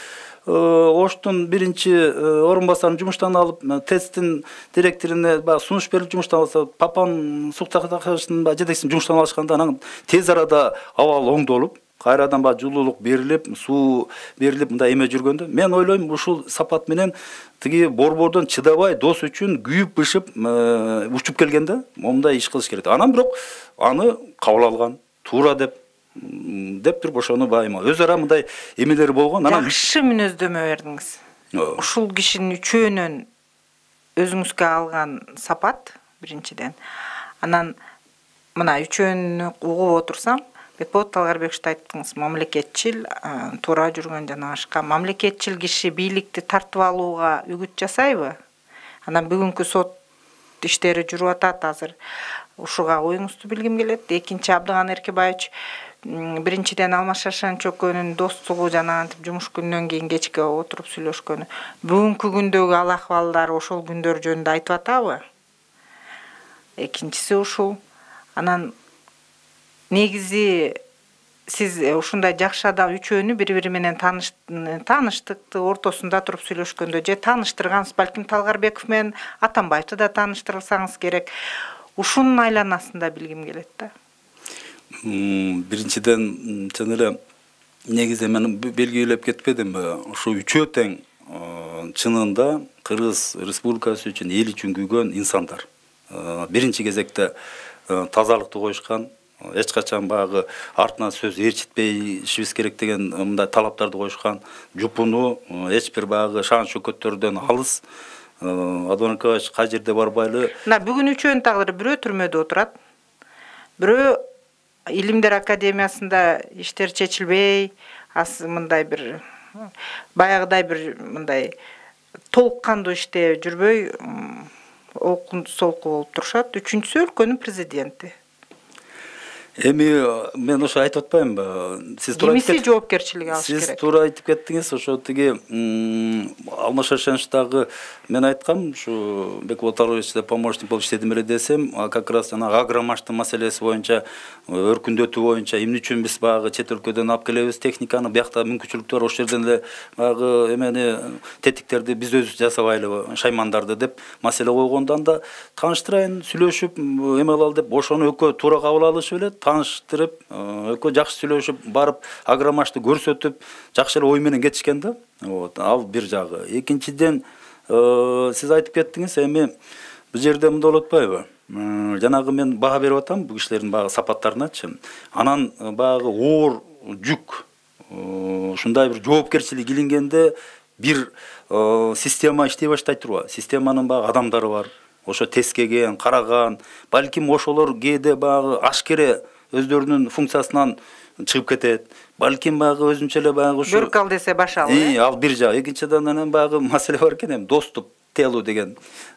Оштун биринчи орун басарын жумуштан алып, ТЭЦтин директоруна баягы сунуш берип жумуштан алса, Папан суу сактагычтын жетекчисин жумуштан алышканда, анан тез арада абал оңдолуп, кайрадан баягы жылуулук берилип, суу берилип, мындай эме жүргөндө, мен ойлойм ушул сапат менен тиги борбордон чыдабай дос үчүн күйүп-бышып учуп келгенде момундай иш кылыш керек. Анан бирок аны кабыл алган, туура деп туруп ошону байыма өз ара мындай эмелери болгон. Анан жакшы мүнөздөмө бердиңиз. Ушул кишинин үчөөнөн өзүңүзгө алган сапат биринчиден. Анан мына үчөөнү угуп отурсам, Бекболот Алгарбековичти айттыңыз, мамлекетчил, туура жүргөн жана башка. Мамлекетчил киши бийликти тартып алууга үгүт жасайбы? Анан бүгүнкү сот иштери жүрүп атат азыр. Ушуга оюңузду билгим келет. Экинчи Абдыган Эркебаевич биринчиден Алмаз Шаршан чөккөнүн достугу жана антип жумуш күнүнөн кийин кечке отуруп сүйлөшкөнү. Бүгүнкү күндөгү ал акыбалдар ошол күндөр жөнүндө айтып атабы? Экинчиси ушул. Анан негизи сиз ушундай жакшы адам үчөөнү бири-бири менен тааныштыкты ортосунда туруп сүйлөшкөндө же тааныштыргансыз, балким Талгарбеков менен Атамбаевди да тааныштырсаңыз керек. Ушунун айланасында билгим келет да. Биринчиден чын эле негизи мен белгилеп кетпедимби? Ушу үчөө тең чынында Кыргыз Республикасы үчүн, эл үчүн күйгөн инсандар. Биринчи кезекте тазалыкты коюшкан, эч качан баягы артынан сөз ээрчитпейишибиз керек деген мындай талаптарды коюшкан, жупуну эч бир баягы шаан шөкөттөрдөн алыс. Адон Эркебаевич кай жерде барбайлы. Бүгүн үчөөнүн тагдыры бирөө түрмөдө отурат. Бирөө Илимдер Академиясында иштер чечилбей, мындай бир баягыдай бир мындай толук кандуу иште жүрбөй окунду солку болуп турушат. Үчүнчүсү өлкөнүн президенти. Эми мен ошо айтып атпаймынбы? Сиз туура кимиси жоопкерчилик алыш керек. Сиз туура айтып кеттиңиз. Ошо тиги Алмаз Шаршановичтагы мен айткам, ушу Бекболот Арыновичте помощник болуп иштедим эле десем, как раз жанагы агромаштын маселеси боюнча, өркүндөтүү боюнча эмне үчүн биз баягы чет өлкөдөн алып келебиз техниканы, биякта мүмкүнчүлүктөр ошол жерден эле баягы эмени тетиктерди биз өзүбүз жасабайлыбы, шаймандарды деп маселе койгондон да тааныштырайын, сүйлөшүп эме кылалы деп ошону экөө туура кабыл алышып эле тааныштырып, экөө жакшы сүйлөшүп, барып агромашты көрсөтүп, жакшы эле ой менен кетишкен да. Ал бир жагы. Экинчиден, сиз айтып кеттиңиз, эми бул жерде мындай болуп атпайбы? Жанагы мен баа берип атам бул кишилердин баягы сапаттарыначы. Анан баягы оор жүк, ушундай бир жоопкерчилик илингенде бир система иштей баштайт турбайбы? Системанын баягы адамдары бар. Ошо тескеген, караган, балким ошолор кээде баягы ашкере өздөрүнүн функциясынан чыгып кетет. Балким баягы өзүнчө эле баягы ушу бөрк ал десе башал. Ал бир жак. Экинчиден анан баягы маселе бар экен, доступ телу деген.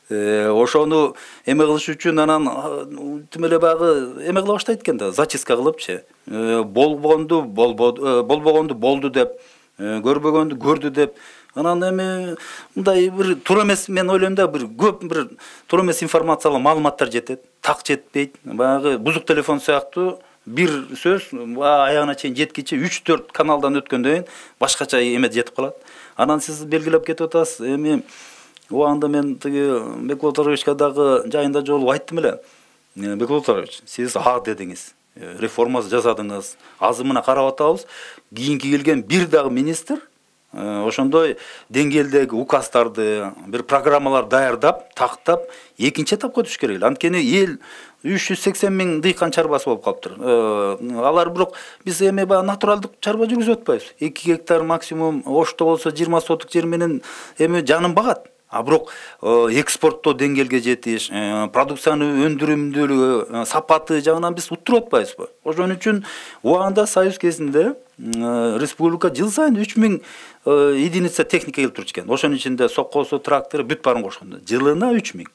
Ошону эме кылыш үчүн анан тим эле баягы эме кыла баштайт экен да, зачистка кылыпчы. Болбогонду болду деп, көрбөгөндү көрдү деп. Анан эми мындай бир туура эмес, мен ойлойм да, бир көп бир туура эмес информациялар, маалыматтар жетет, так жетпейт. Баягы бузук телефон сыяктуу бир сөз аягына чейин жеткичи 3-4 каналдан өткөндөн кийин башкача эме жетип калат. Анан сиз белгилеп кетип атасыз. Эми убагында мен тиги Бекболот Арыновичке дагы жайында жолугуп айттым эле. Бекболот Арынович, сиз дедиңиз. Реформа жасадыңыз. Азымына карап атабыз. Кийинки келген бир дагы министр ошондой деңгээлдеги указдарды, бир программалар даярдап, тактап, экинчи этапка түшүш керек. Анткени эл 380 миң дыйкан чарбасы болуп калыптыр. Алар бирок биз эми натуралдык чарба жүргүзүп атпайбыз. 2 гектар максимум, ошто болсо 20 сотук жер менен эми жанын багат. Бирок экспорттоо деңгээлге жетиш, продукцияны өндүрүмдүүлүгү, сапаты жагынан биз уттуруп атпайбызбы? Ошон үчүн убагында союз кезинде республика жыл сайын 3000 единица техника келип турчу экен. Ошонун ичинде соккосу, трактору бүт баарын кошкондо жылына 3000.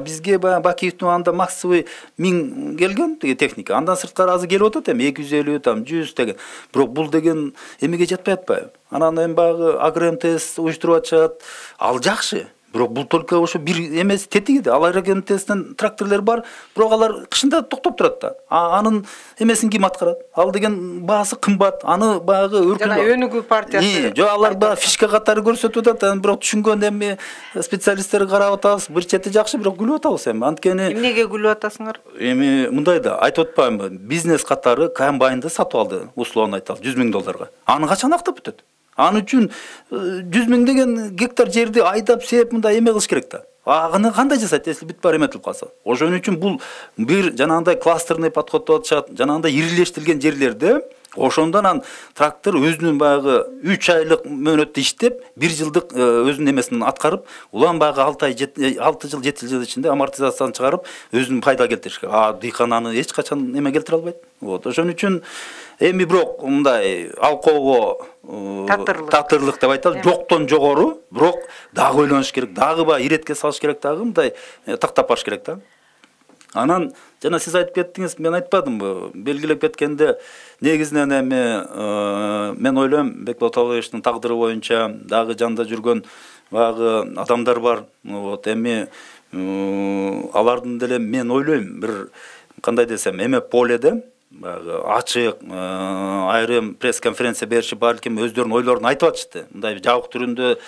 Бизге Бакиевдин убагында максимум 1000 келген техника. Андан сырткары азыр келип атат эми 250, 100 деген. Бирок бул деген эмеге жетпей атпайбы? Анан эми багы агро-МТС уюштуруп атышат. Ал жакшы. Бирок бул только ошо бир эмес тетиги да. Ал агро-МТСтен тракторлор бар, бирок алар кышында токтоп турат да. Анын эмесин ким аткарат? Ал деген баасы кымбат. Аны багы жана өнүгүү партиясы. Жок, алар баа фишка катары көрсөтүп атат. Бирок түшүнгөн эми специалисттер карап атабыз. Бир чети жакшы, бирок күлүп атабыз эми. Анткени эмнеге күлүп атасыңар? Эми мындай да, айтып атпаймынбы? Бизнес катары комбайнды сатып алды, условно айталы, $100,000. Аны качан актап бүтөт? Аны үчүн 100 миң деген гектар жерди айдап сеп мындай эме кылыш керек да. Аны кандай жасайт, если бүт баары эметилип калса? Ошон үчүн бул бир жанагындай кластерный подход деп атышат, жанагындай ирилештирилген жерлерде Ошондон анан трактор өзүнүн баягы 3 айлык мөөнөттө иштеп, 1 жылдык өзүнүн эмесин аткарып, улам баягы 6 жыл 7 жыл ичинде амортизацияны чыгарып, өзүнүн пайда келтириш керек. Дыйкан аны эч качан эме келтире албайт. Вот. Ошон үчүн эми бирок мындай алкоого татырлык деп айталы, жоктон жогору, бирок дагы ойлонуш керек, дагы баягы иретке салыш керек, дагы мындай тактап баш керек да. Анан жана сиз айтып кеттиңиз, мен айтпадымбы, белгилеп кеткенде негизинен эми мен ойлойм Бекболот Албаевичтин тагдыры боюнча дагы жанында жүргөн баягы адамдар бар. Вот эми алардын деле мен ойлойм бир кандай десем, эме поледе баягы ачык айрым пресс-конференция беришип, балким өздөрүнүн ойлорун айтып атышты. Мындай жабык түрүндө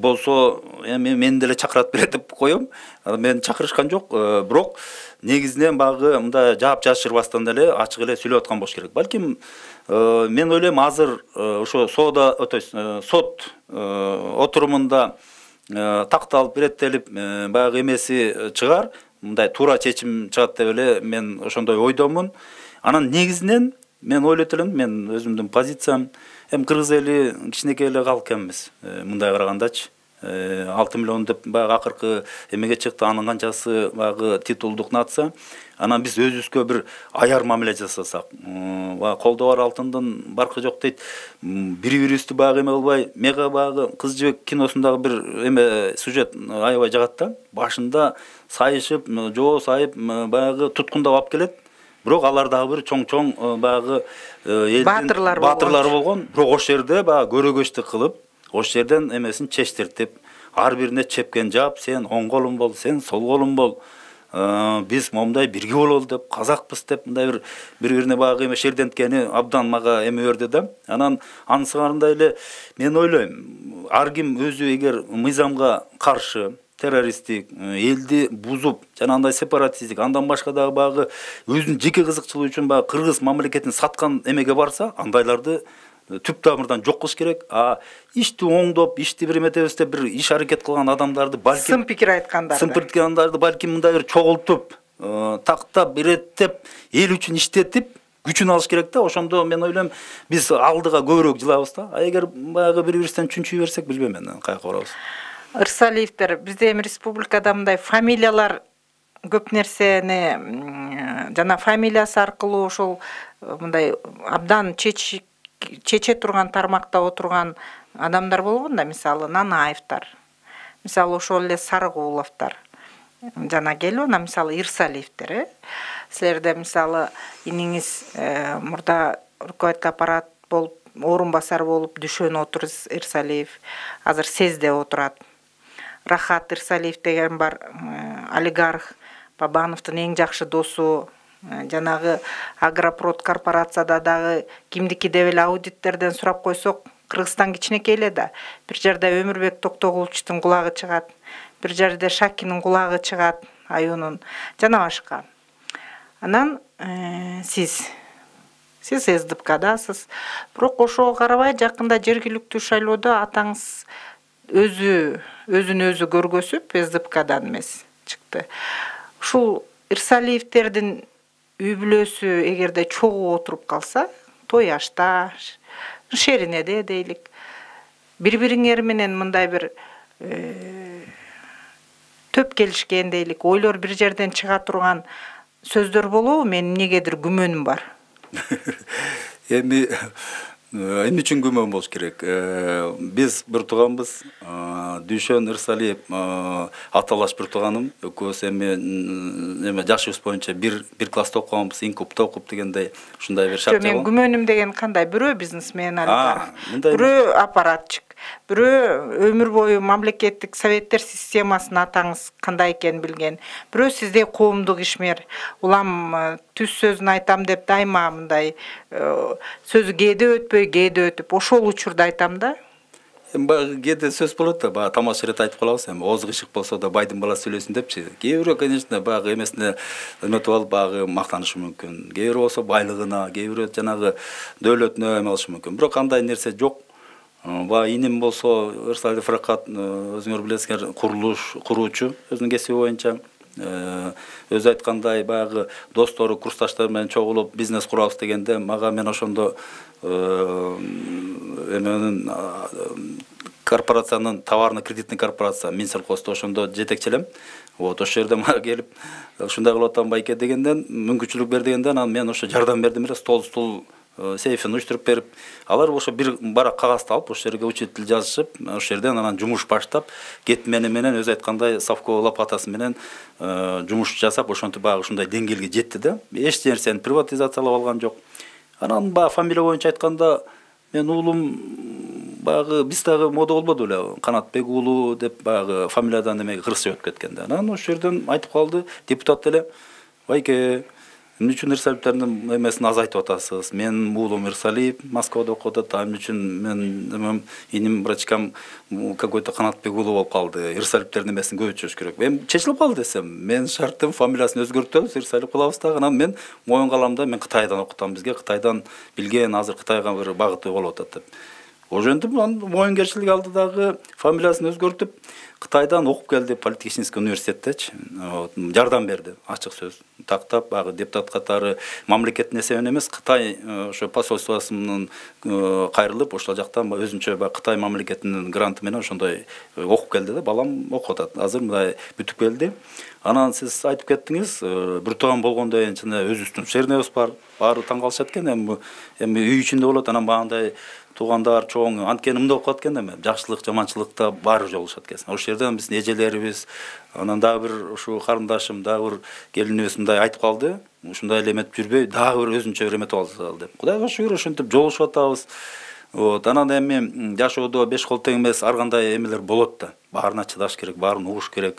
болсо эми мени деле чакырат берет деп коем. Мен чакырышкан жок, бирок негизинен баягы мындай жаап жашырбастан деле ачык эле сүйлөп аткан болуш керек. Балким мен ойлойм азыр ошо сот отурумунда такталып, иреттелип, баягы эмеси чыгар, мындай туура чечим чыгат деп эле мен ошондой ойдомун. Анан негизинен мен ойлойт элем, мен өзүмдүн позициям, эми кыргыз эли кичинекей эле калк экенбиз, мындай карагандачы. 6 миллион деп баягы акыркы эмеге чыкты, анын канчасы баягы титулдук нация. Анан биз өзүбүзгө бир аяр мамиле жасасак, колдо бар алтындын баркы жок дейт. Бири-бирибизди баягы эме кылбай, мега баягы Кыз жибек киносундагы бир эме сюжет аябай жагат да. Башында сайышып, жоо сайып, баягы туткундап алып келет. Бирок алар дагы бир чоң баягы элдин баатырлары болгон. Бирок ошол жерде баягы көрөгөчтүк кылып, ошол жерден эмесин чечтиртип, ар бирине чепкен жаап, сен оң колум бол, сен сол колум бол. Биз момундай бирге бололу деп, казакпыз деп, мындай бири-бирине баягы эме шерденткени абдан мага эме берди да. Анан анысыңарындай эле мен ойлойм, ар ким өзү эгер мыйзамга каршы, террористтик, элди бузуп, жана андай сепаратисттик, андан башка дагы баягы өзүнүн жеке кызыкчылыгы үчүн баягы кыргыз мамлекетин саткан эмеге барса, андайларды түп тамырдан жок кылыш керек. Ишти оңдоп, ишти бир эметебиз деп бир иш аракет кылган адамдарды балким сын пикир айткандарды балким мындай бир чогултуп, тактап, иреттеп, эл үчүн иштетип, күчүн алыш керек да. Ошондо мен ойлойм, биз алдыга көбүрөөк жылабыз да. Эгер баягы бири-бирибизден чүнчүй берсек, билбейм мен каяка барабыз. Ырсалиевдер, бизде эми республикада мындай фамилиялар көп нерсени жана фамилиясы аркылуу ошол мындай абдан чече турган тармакта отурган адамдар болгон да, мисалы Нанаевдер, мисалы ошол эле Сарыгуловдор жана келип, анан мисалы Ирсалиевдер, силерде мисалы иниңиз мурда руководитель аппарат болуп, орун басар болуп Дүшөн отур Ирсалиев, азыр СЭЗде отурат. Рахат Ирсалиев деген бар, олигарх, Бабановдун эң жакшы досу, жанагы Агропрод корпорацияда дагы кимдики деп эле аудиттерден сурап койсок, Кыргызстан кичинекей эле да. Бир жерде Өмүрбек Токтогуловичтин кулагы чыгат, бир жерде Шакинин кулагы чыгат, аюунун, жана башка. Анан сиз СДПКдасыз. Бирок ошого карабай жакында жергиликтүү шайлоодо атаңыз өзүн өзү көргөзүп, СДПКдан эмес чыкты. Ушул Ирсалиевдердин үй бүлөсү эгерде чогуу отуруп калса, той ашта, шериneде дейлик, бири-бириңер менен мындай бир төп келишкен дейлик, ойлор бир жерден чыга турган сөздөр болобу? Менин эмнегедир күмөнүм бар. Эми үчүн күмөн болуш керек. Биз бир тууганбыз, Дүшөн Ирсалиев аталаш бир тууганым, экөөбүз эми жашыбыз боюнча бир класста окуганбыз, инкупта окуп дегендей, ушундай бир шарт. Мен күмөнүм деген кандай? Бирөө бизнесмен алар, бирөө аппаратчык, бирөө өмүр бою мамлекеттик советтер системасын атаңыз кандай экенин билген, бирөө сиздей коомдук ишмер, улам түз сөзүн айтам деп дайыма мындай сөзү кээде өтүп, ошол учурда айтам да. Баягы кээде сөз болот да, баягы тамаша рет айтып калабыз, эми ооз кышык болсо да байдын баласы сүйлөсүн депчи. Кээ бирөө, конечно, баягы эмесине эметип алып баягы мактанышы мүмкүн. Кээ бирөө болсо байлыгына, кээ бирөө жанагы дөөлөтүнө эме алышы мүмкүн. Бирок андай нерсе жок. Баягы иним болсо Ирсалиев Рахат, өзүңөр билесиңер, куруучу өзүнүн кесиби боюнча. Өзү айткандай баягы достору, курсташтар менен чогулуп бизнес курабыз дегенде мага мен ошондо эменин корпорациянын товарно-кредитный корпорация Минсельхозду ошондо жетекчилем. Ошол жерде мага келип ушундай кылып атам байке дегенден мүмкүнчүлүк бер дегенден анан мен ошо жардам бердим эле, стол сейфин уюштуруп берип, алар ошо бир барак кагазды алып ошол жерге учитель жазышып, ошол жерден анан жумуш баштап, кетмени менен өзү айткандай совко лопатасы менен жумуш жасап, ошентип баягы ушундай деңгээлге жетти да. Эч нерсени приватизациялап алган жок. Анан баягы фамилия боюнча айтканда, мен уулум баягы биз дагы мода болбоду эле, Канатбек уулу деп баягы фамилиядан эмеге кыргызча өтүп кеткен да. Анан ошол жерден айтып калды депутат эле, байке, эмне үчүн Ирсалиевтердин эмесин азайтып атасыз? Мен уулум Ирсалиев Москвада окуп атат, эмне үчүн мен иним врачкам какой-то Канатбек уулу болуп калды? Ирсалиевтердин эмесин көбөйтүш керек. Эми чечилип калды десем, мен шарттым, фамилиясын өзгөртөбүз, Ирсалиев кылабыз дагы. Анан мен моюнга алам да, мен Кытайдан окутам, бизге Кытайдан билген, азыр Кытайга бир багыты болуп атат деп. Ошентип моюнкерчилик алды дагы, фамилиясын өзгөртүп, Кытайдан окуп келди политехнический университеттечи, жардам берди, ачык сөз. Тактап, баягы депутат катары мамлекеттин эсебинен эмес, Кытай ошо посольствосунун кайрылып, ошол жактан өзүнчө Кытай мамлекетинин гранты менен ошондой окуп келди да, балам окуп атат. Азыр мындай бүтүп келди. Анан сиз айтып кеттиңиз, бир тоон болгондон кийин чын өзүбүздүн шернебиз бар, баары таң калышат экен, эми үй ичинде болот, анан багындай туугандар чоң анткени мындай окуп аткан эми, жакшылык, жаманчылыкта баары жолугушат экен. Ошол жерден биздин эжелерибиз, анан дагы бир ушу карындашым, дагы бир келинибиз мындай айтып калды, ушундай эле эметип жүрбөй, дагы бир өзүнчө бир эметип алсал деп. Кудайга шүгүр ошентип жолугушуп атабыз. Анан эми жашоодо беш кол тең эмес, ар кандай эмелер болот да. Баарына чыдаш керек, баарын угуш керек.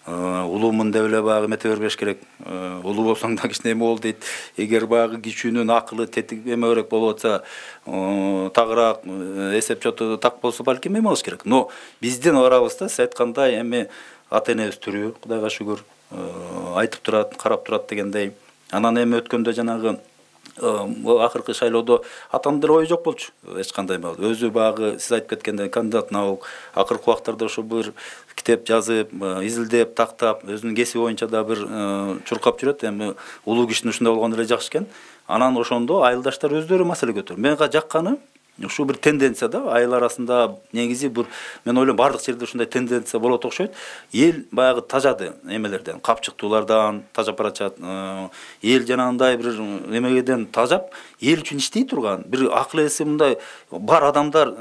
Улуумун деп эле баягы эмете бербеш керек. Улуу болсоң да кичине эме бол дейт. Эгер баягы кичүүнүн акылы тетик эмеберээк болуп атса, тагыраак эсеп чоту так болсо балким эме кылыш керек. Но биздин арабызда сиз айткандай эми ата энебиз тирүү, Кудайга шүгүр, айтып турат, карап турат дегендей. Анан эми өткөндө жанагы акыркы шайлоодо атамдын деле ою жок болчу, эч кандай эмес. Өзү баягы сиз айтып кеткендей кандидат наук, акыркы убактарда ошо бир китеп жазып, изилдеп, тактап, өзүнүн кесиби боюнча да бир чуркап жүрөт. Эми улуу кишинин ушундай болгону эле жакшы экен. Анан ошондо айылдаштар өздөрү маселе көтөрүп. Менга жакканы ушу бир тенденция да, айыл арасында негизи бир, мен ойлойм бардык жерде ушундай тенденция болот окшойт. Эл баягы тажады эмелерден, капчыктуулардан тажап барачат. Эл жанагындай бир эмегеден тажап, эл үчүн иштей турган, бир акыл эси мындай бар адамдар,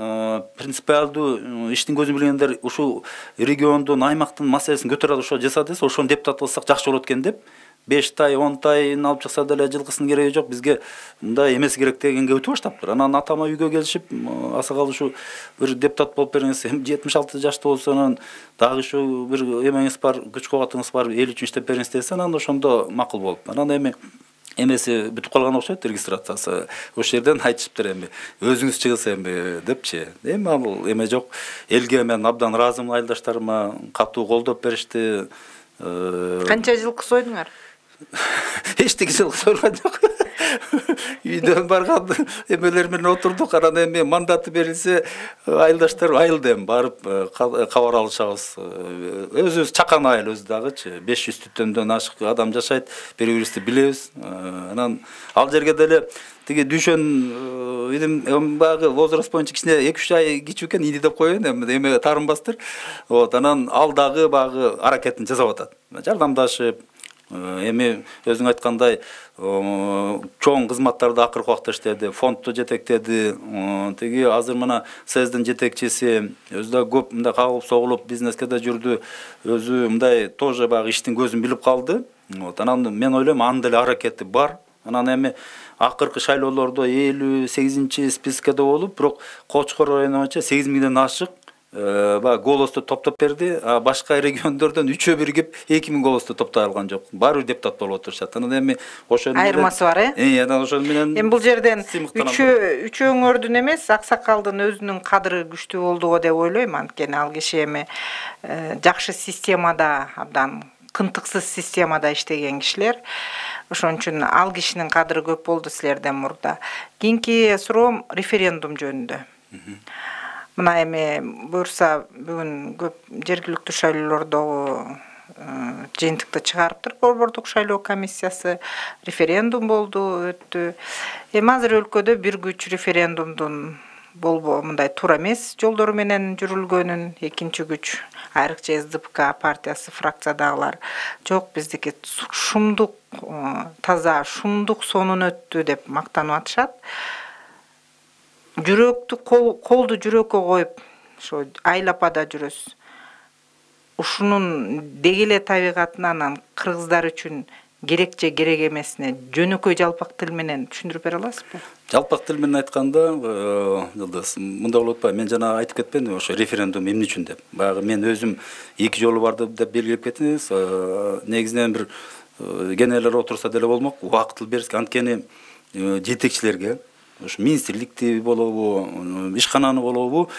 принципиалдуу иштин көзүн билгендер ушул региондун, аймактын маселесин көтөрүп ошо жасады десе, ошону депутат кылсак жакшы болот экен деп 5 тай, 10 тайын алып чыкса деле жылкысынын кереги жок, бизге мындай эмес керек дегенге өтүп баштаптыр. Анан атама үйгө келишип, асакал ушу бир депутат болуп бериңиз, 76 жашта болсо, анан дагы ушу бир эмеңиз бар, күч кубатыңыз бар, эл үчүн иштеп бериңиз десе, анан ошондо макул болуп. Анан эми эмеси бүтүп калган окшойт, регистрациясы. Ошол жерден айтышыптыр эми, өзүңүз чыгыз эми депчи. Эми ал эме жок. Элге мен абдан ыраазымын, айылдаштарыма катуу колдоп беришти. Канча жылкы сойдуңар? Эчтеке жылкы сойгон жок. Үйдөн барган эмелер менен отурдук. Анан эми мандаты берилсе, айылдаштар айылда эми барып кабар алышабыз. Өзүбүз чакан айыл өзү дагычы, 500 түтөндөн ашык адам жашайт, бири-бирибизди билебиз. Анан ал жерге деле тиги дүйшөн идим багы возраст боюнча кичине 2-3 ай кичүү экен, иди деп коеюн, эме таарынбастыр. Анан ал дагы багы аракетин жасап атат. Жардамдашып, эми өзүң айткандай чоң кызматтарды акыркы убакта иштеди, фондду жетектеди. Тиги азыр мына СЭСдин жетекчиси өзү да көп мындай кагылып согулуп бизнеске да жүрдү. Өзү мындай тоже багы иштин көзүн билип калды. Анан мен ойлойм анын деле аракети бар. Анан эми акыркы шайлоолордо 58-чи спискеде болуп, бирок Кочкор району боюнча 8 миңден ашык голосду топтоп берди. Башка региондордон 3-ө биригип 2 миң голосду топтой алган жок. Баары депутат болуп отурушат. Анан эми ошону айырмасы бар, анан ошону менен эми бул жерден 3 өңөрдүн эмес, Аксакалдын өзүнүн кадыры күчтүү болдуго деп ойлойм. Анткени ал киши эми жакшы системада, абдан кынтыксыз системада иштеген кишилер. Ошон үчүн ал кишинин кадыры көп болду силерден мурда. Кийинки суроом референдум жөнүндө. Мына эми буюрса бүгүн көп жергиликтүү шайлоолордогу жыйынтыкты чыгарыптыр. Борбордук шайлоо комиссиясы референдум болду, өттү. Эми азыр өлкөдө бир күч референдумдун мындай туура эмес жолдору менен жүрүлгөнүн, экинчи күч айрыкча СДПК партиясы фракциядагылар жок, биздики шумдук таза шумдук сонун өттү деп мактанып атышат. Жүрөктү колду жүрөккө коюп ошо айлапада жүрөсүз. Ушунун деги эле табигатынан кыргыздар үчүн керек же керек эмесине жөнөкөй жалпак тил менен түшүндүрүп бере аласызбы? Жалпак тил менен айтканда, Жылдыз, мындай болуп атпайбы? Мен жана айтып кетпедимби, ошо референдум эмне үчүн деп. Баягы мен өзүм 2 жолу барды деп белгилеп кеттиңиз. Негизинен бир кенелер отурса деле болмок, убакыт берсек, анткени жетекчилерге, ошо министрликти болобу, ишкананы болобу,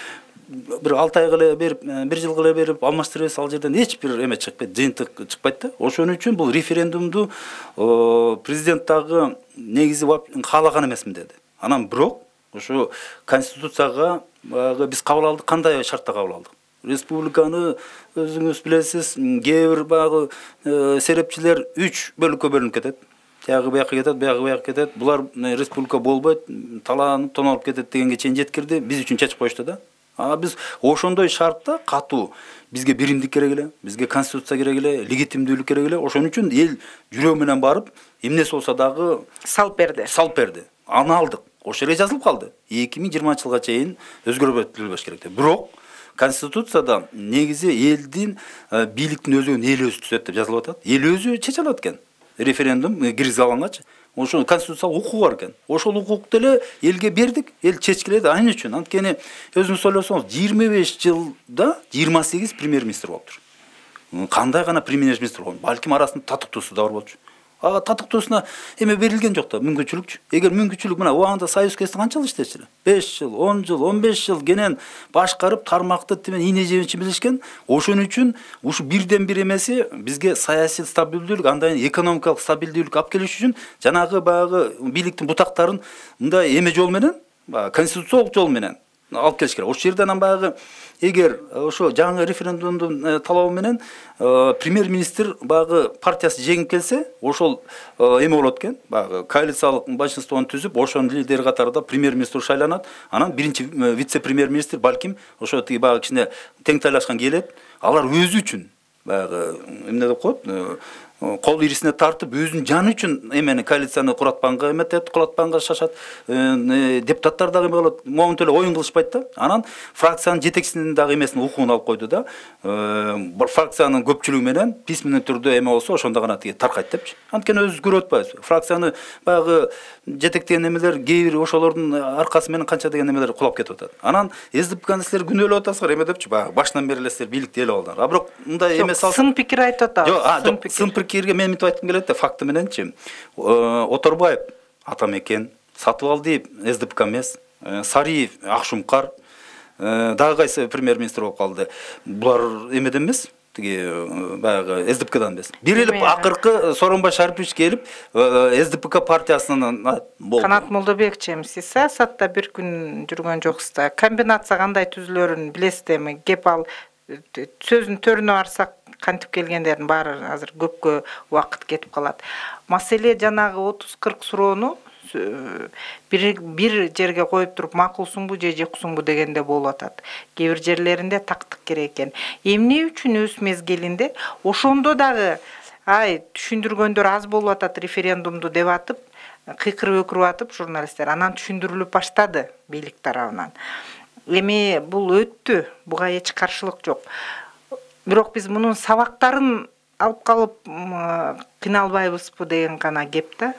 бир 6 айга эле берип, 1 жылга эле берип алмаштырабыз, ал жерден эч бир эме чыкпайт, жыйынтык чыкпайт да. Ошон үчүн бул референдумду президент дагы негизи каалаган эмесмин деди. Анан бирок ошо конституцияга биз кабыл алдык, кандай шартта кабыл алдык? Республиканы өзүңүз билесиз, кээ бир баягы серепчилер 3 бөлүккө бөлүнүп кетет. Тягы бияка кетет, бияка кетет. Булар республика болбойт, таланып, тоналып кетет дегенге чейин жеткирди. Биз үчүн чечип коюшту да. Биз ошондой шартта катуу, бизге биримдик керек эле, бизге конституция керек эле, легитимдүүлүк керек эле. Ошон үчүн эл жүрөө менен барып, эмнеси болсо дагы салып берди. Аны алдык. Ошол жерге жазылып калды. 2020-жылга чейин өзгөртүлбөш керек деп. Бирок конституцияда негизи элдин бийликтин өзүн эл өзү түзөт деп жазылып атат. Эл өзү чече алат экен. Референдум киргизе алгангачы. Ошо конституциялык укугу бар экен. Ошол укукты эле элге бердик, эл чечкиледи. Анын үчүн, анткени өзүңүз ойлосоңуз, 25 жылда 28 премьер-министр болуптур. Кандай гана премьер-министр болгон? Балким арасында татыктуусу да бар болчу. Татыктуусуна эме берилген жок да, мүмкүнчүлүкчү. Эгер мүмкүнчүлүк мына убагында Союз кезинде канча жыл иштечү эле? 5 жыл, 10 жыл, 15 жыл кенен башкарып, тармакты тимен ийне жебичи билишкен. Ошон үчүн ушу бирден бир эмеси бизге саясий стабилдүүлүк, андан экономикалык стабилдүүлүк алып келиш үчүн жанагы баягы бийликтин бутактарын мындай эме жол менен, конституциялык жол менен алып келиш керек. Ошол жерден анан баягы эгер ошо жаңы референдумдун талабы менен премьер-министр баягы партиясы жеңип келсе, ошол эме болот экен, баягы коалициялык большинствону түзүп, ошонун лидери катарында премьер-министр шайланат. Анан биринчи вице-премьер-министр балким ошо тиги баягы кичине тең тайлашкан келет. Алар өзү үчүн баягы эмне деп коет, кол ирисине тартып, өзүнүн жаны үчүн эмени коалицияны куратпанга эметет, кулатпанга шашат. Депутаттар дагы эме болот, момунт эле оюн кылышпайт да. Анан фракциянын жетекчисинин дагы эмесин укугун алып койду да. Фракциянын көпчүлүгү менен письменный түрдө эме болсо, ошондо гана тиги таркайт депчи. Анткени өзүбүз көрүп атпайбызбы? Фракцияны баягы жетектеген эмелер кээ бир ошолордун аркасы менен канча деген эмелер кулап кетип атат. Анан СДПКны силер күнөөлөп атасыздар, эме депчи, баягы башынан бери эле силер бийликти ээлеп алдыңар. Бирок мындай эме салса, сын пикир айтып атабыз. Сын пикирге мен мынтип айткым келет да, факты мененчи. Оторбаев Атамекен, Сатыбалдиев СДПК эмес, Сариев Акшумкар, дагы кайсы премьер-министр болуп калды. Булар эмеден эмес, тиги баягы СДПКдан эмес. Бир эле акыркы Сооронбай Шарипович келип СДПК партиясынан болду. Канат Молдобекович, сиз саясатта бир күн жүргөн жоксуз да. Комбинация кандай түзүлөрүн билесиздерби? Кеп ал сөзүнүн төрүнө барсак, кантип келгендердин баары азыр көпкө убакыт кетип калат. Маселе жанагы 30-40 суроону бир жерге коюп туруп макулсуңбу же жоксуңбу дегенде болуп атат. Кээ бир жерлеринде тактык керек экен. Эмне үчүн өз мезгилинде ошондо дагы түшүндүргөндөр аз болуп атат референдумду деп атып, кыйкырып өкүрүп атып журналисттер. Анан түшүндүрүлүп баштады бийлик тарабынан. Эми бул өттү, буга эч каршылык жок. Бирок биз мунун сабактарын алып калып кыйналбайбызбы деген гана кеп да.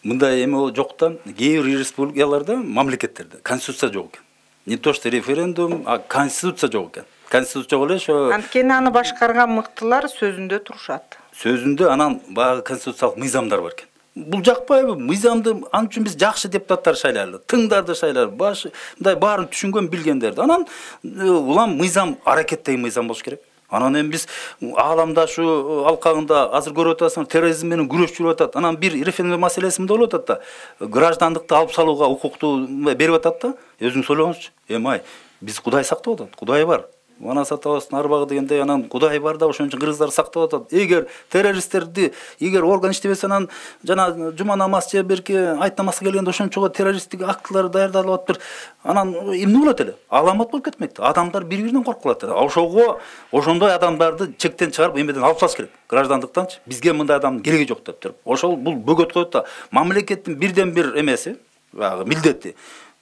Мындай эме жоктан кээ бир республикаларда, мамлекеттерде конституция жок экен. Не то что референдум, а конституция жок экен. Конституция жок эле ошо. Анткени аны башкарган мыктылар сөзүндө турушат. Сөзүндө анан баягы конституциялык мыйзамдар бар экен. Бул жакпайбы? Мыйзамды ан үчүн биз жакшы депутаттар шайлайлы, тыңдарды шайлайлы, мындай баарын түшүнгөн билгендерди. Анан улам мыйзам, аракеттеги мыйзам болуш керек. Анан эми биз ааламдашу алкагында азыр көрүп атасыңар, терроризм менен күрөш жүрүп атат. Анан бир референдум маселеси мындай болуп атат да. Граждандыкты алып салууга укукту берип атат да. Өзүңүз ойлоңузчу. Эмай, биз Кудай сактап атат. Кудай бар. манас атабыздын арбагы дегендей, анан Кудай бар да, ошон үчүн кыргыздар сактап атат. Эгер террористтерди, эгер орган иштебесе, анан жана жума намаз же берки айт намазга келгенде ошончого террористтик актылар даярдалып атыптыр. Анан эмне болот эле? Аламат болуп кетмекти. Адамдар бири-биринен коркуп калат. Ошого ошондой адамдарды чектен чыгарып эмеден алып тасташ керек. Граждандыктанчы бизге мындай адамдын кереги жок деп туруп. Ошол бул бөгөт коет да. Мамлекеттин бирден бир эмеси, баягы милдети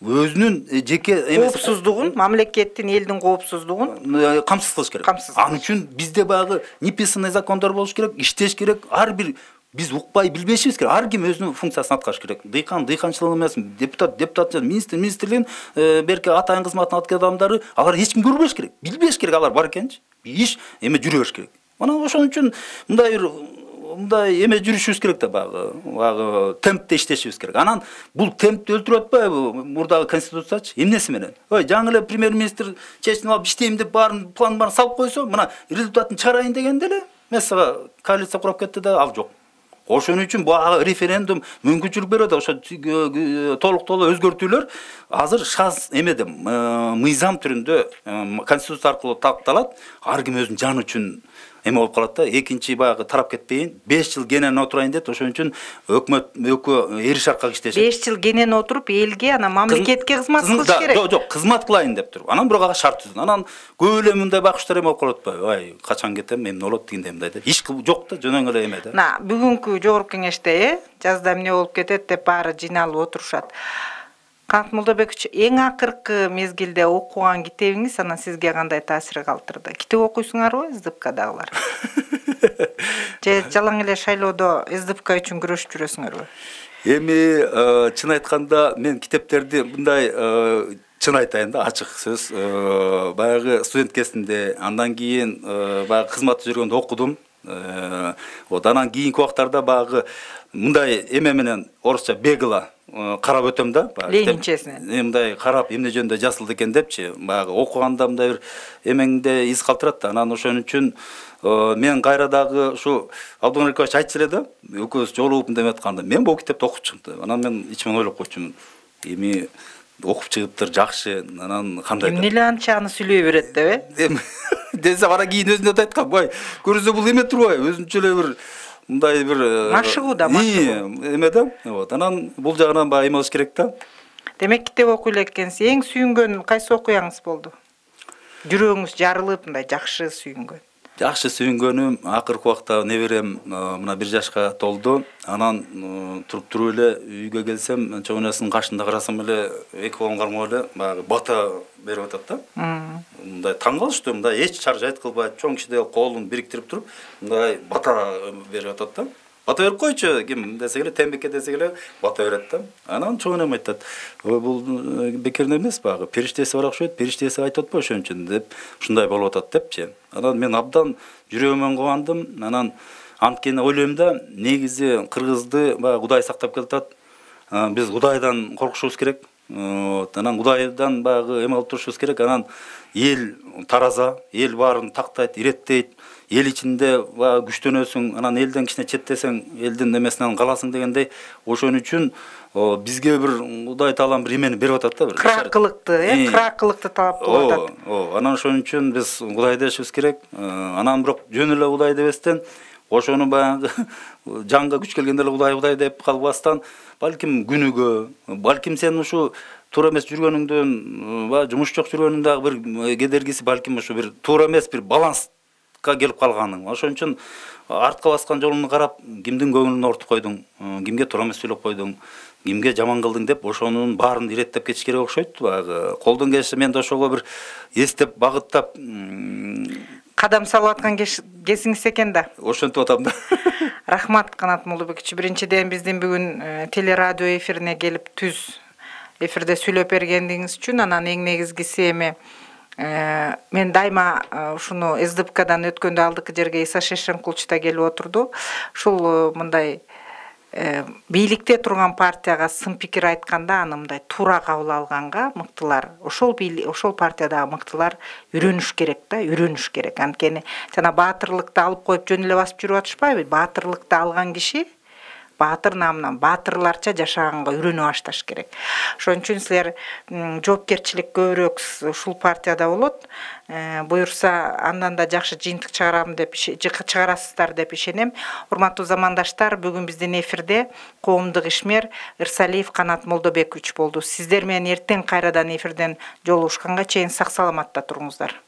өзүнүн жеке коопсуздугун, мамлекеттин, элдин коопсуздугун камсыз кылыш керек. Анын үчүн бизде баягы неписанный закондор болуш керек, иштеш керек. Ар бир биз укпай билбешибиз керек. Ар ким өзүнүн функциясын аткарыш керек. Дыйкан дыйканчылык эмес, депутат, министр министрлигин берки атайын кызматын аткан адамдары, алар эч ким көрбөш керек. Билбеш керек алар бар экенчи. Иш эме жүрө бериш керек. Анан ошон үчүн мындай эме жүрүшүбүз керек да, баягы темпте иштешибиз керек. Анан бул темпти өлтүрүп атпайбы мурдагы конституциячы? Эмнеси менен? Жаңы эле премьер-министр чечип алып иштейм деп баарын план барын салып койсо, мына результатын чыгарайын дегенде эле месага коалиция курап кетти да, ал жок. Ошон үчүн баягы референдум мүмкүнчүлүк берет. Ошо толук өзгөртүүлөр азыр шаз эмеде мыйзам түрүндө конституция аркылуу такталат. Ар ким өзүнүн жаны үчүн эме болуп калат да. Экинчи баягы тарап кетпейин, 5 жыл кенен отурайын дейт. Ошон үчүн өкмөт экөө эриш аркак иштешет. 5 жыл кенен отуруп элге, анан мамлекетке кызмат кылыш керек. Жок, кызмат кылайын деп туруп. Анан бирок ага шарт түзүн. Анан көп эле мындай бакчылар эме болуп калып атпайбы? Ай, качан кетем, эмне болот дегенде мындай деп. Иш жок да, жөнөң эле эме да. Бүгүнкү жогорку кеңеште, жазда эмне болуп кетет деп баары жыйналып отурушат. Канат Молдобекович, эң акыркы мезгилде окуган китебиңиз анан сизге кандай таасир калтырды? Китеп окуйсуңарбы, СДПКдагылар? Же жалаң эле шайлоодо СДПК үчүн күрөшүп жүрөсүңөрбү? Эми чын айтканда мен китептерди мындай чын айтайын да, ачык сөз. Баягы студент кезинде, андан кийин баягы кызматта жүргөндө окудум. Анан кийинки убактарда баягы мындай эме менен орусча бегла карап өтөм да. Ленинчесинен. Мындай карап эмне жөнүндө жазылды экен депчи, баягы окуганда мындай бир эмеңде из калтырат да. Анан ошон үчүн мен кайра дагы ушу Абдулла Рикович айтчу эле да, экөөбүз жолугуп мындай атканда, мен бул китепти окуп чыктым. Анан мен ичимен ойлоп койчумун. Эми окуп чыгыптыр, жакшы. Анан кандай? Эмне эле анчаны сүйлөй берет деп, Десе ара кийин өзүнө да айткан, бай, көрсө бул эме турбайбы? Өзүнчө эле бир мындай бир машыгуу да, эме да. Анан бул жагынан баягы эме болуш керек да. Демек китеп окуй эле экенсиз. Эң сүйүнгөн кайсы окуяңыз болду? Жүрөгүңүз жарылып, мындай жакшы сүйүнгөн. Жакшы сүйүнгөнүм акыркы убакта неберем мына 1 жашка толду. Анан туруп эле үйгө келсем, чоңунасынын кашында карасам эле эки колун кармап эле баягы бата берип атат да. Мындай таң калыштуу, мындай эч чаржайт кылбай, чоң кишидей колун бириктирип туруп, мындай бата берип атат да. Бата берип койчу, ким десе эле, тембекке десе эле бата берет да. Анан чоңунам айтат, бул бекерден эмес, баягы периштеси бар окшойт, периштеси айтып атпайбы ошон үчүн деп, ушундай болуп атат депчи. Анан мен абдан жүрөгүмөн кубандым. Анан анткени ойлойм да, негизи кыргызды баягы Кудай сактап келатат. Биз Кудайдан коркушубуз керек. Анан Кудайдан баягы эме алып турушубуз керек. Анан эл тараза, эл баарын тактайт, иреттейт. Эл ичинде күчтөнөсүң, анан элден кичине четтесең, элдин эмесинен каласың дегендей. Ошон үчүн бизге бир Кудай таалам бир эмени берип атат да, бир кракылыкты талап кылып атат. Анан ошон үчүн биз Кудай дешибиз керек. Анан бирок жөн эле Кудай дебестен, ошону баягы жанга күч келгенде эле Кудай деп калбастан, балким күнүгө, балким сен ушу туура эмес жүргөнүңдөн, жумуш жок жүргөнүңдө бир кедергиси, балким ушу бир туура эмес бир баланс келип калганың. Ошон үчүн артка баскан жолуңду карап, кимдин көңүлүн ортуп койдуң, кимге туура эмес сүйлөп койдуң, кимге жаман кылдың деп, ошонун баарын иреттеп кетиш керек окшойт. Баягы колдон келиши мен да ошого бир эстеп, багыттап кадам салып аткан кезиңиз экен да. Ошентип атам да. Рахмат, Канат Молдобекович. Биринчиден биздин бүгүн телерадио эфирине келип түз эфирде сүйлөп бергениңиз үчүн, анан эң негизгиси эми мен дайыма ушуну СДПКдан өткөндө алдыкы жерге Иса Шешенкулович да келип отурду. Ушул мындай бийликте турган партияга сын пикир айтканда, аны мындай туура кабыл алганга мыктылар, ошол партиядагы мыктылар үйрөнүш керек да, үйрөнүш керек. Анткени жана баатырлыкты алып коюп жөн эле басып жүрүп атышпайбы? Баатырлыкты алган киши баатыр намынан баатырларча жашаганга үйрөнүп башташ керек. Ошон үчүн силер жоопкерчилик көбүрөөк ушул партияда болот. Буюрса андан да жакшы жыйынтык чыгарасыздар деп ишенем. Урматтуу замандаштар, бүгүн биздин эфирде коомдук ишмер Ырсалиев Канат Молдобекович болду. Сиздер менен эртең кайрадан эфирден жолугушканга чейин сак саламатта туруңуздар.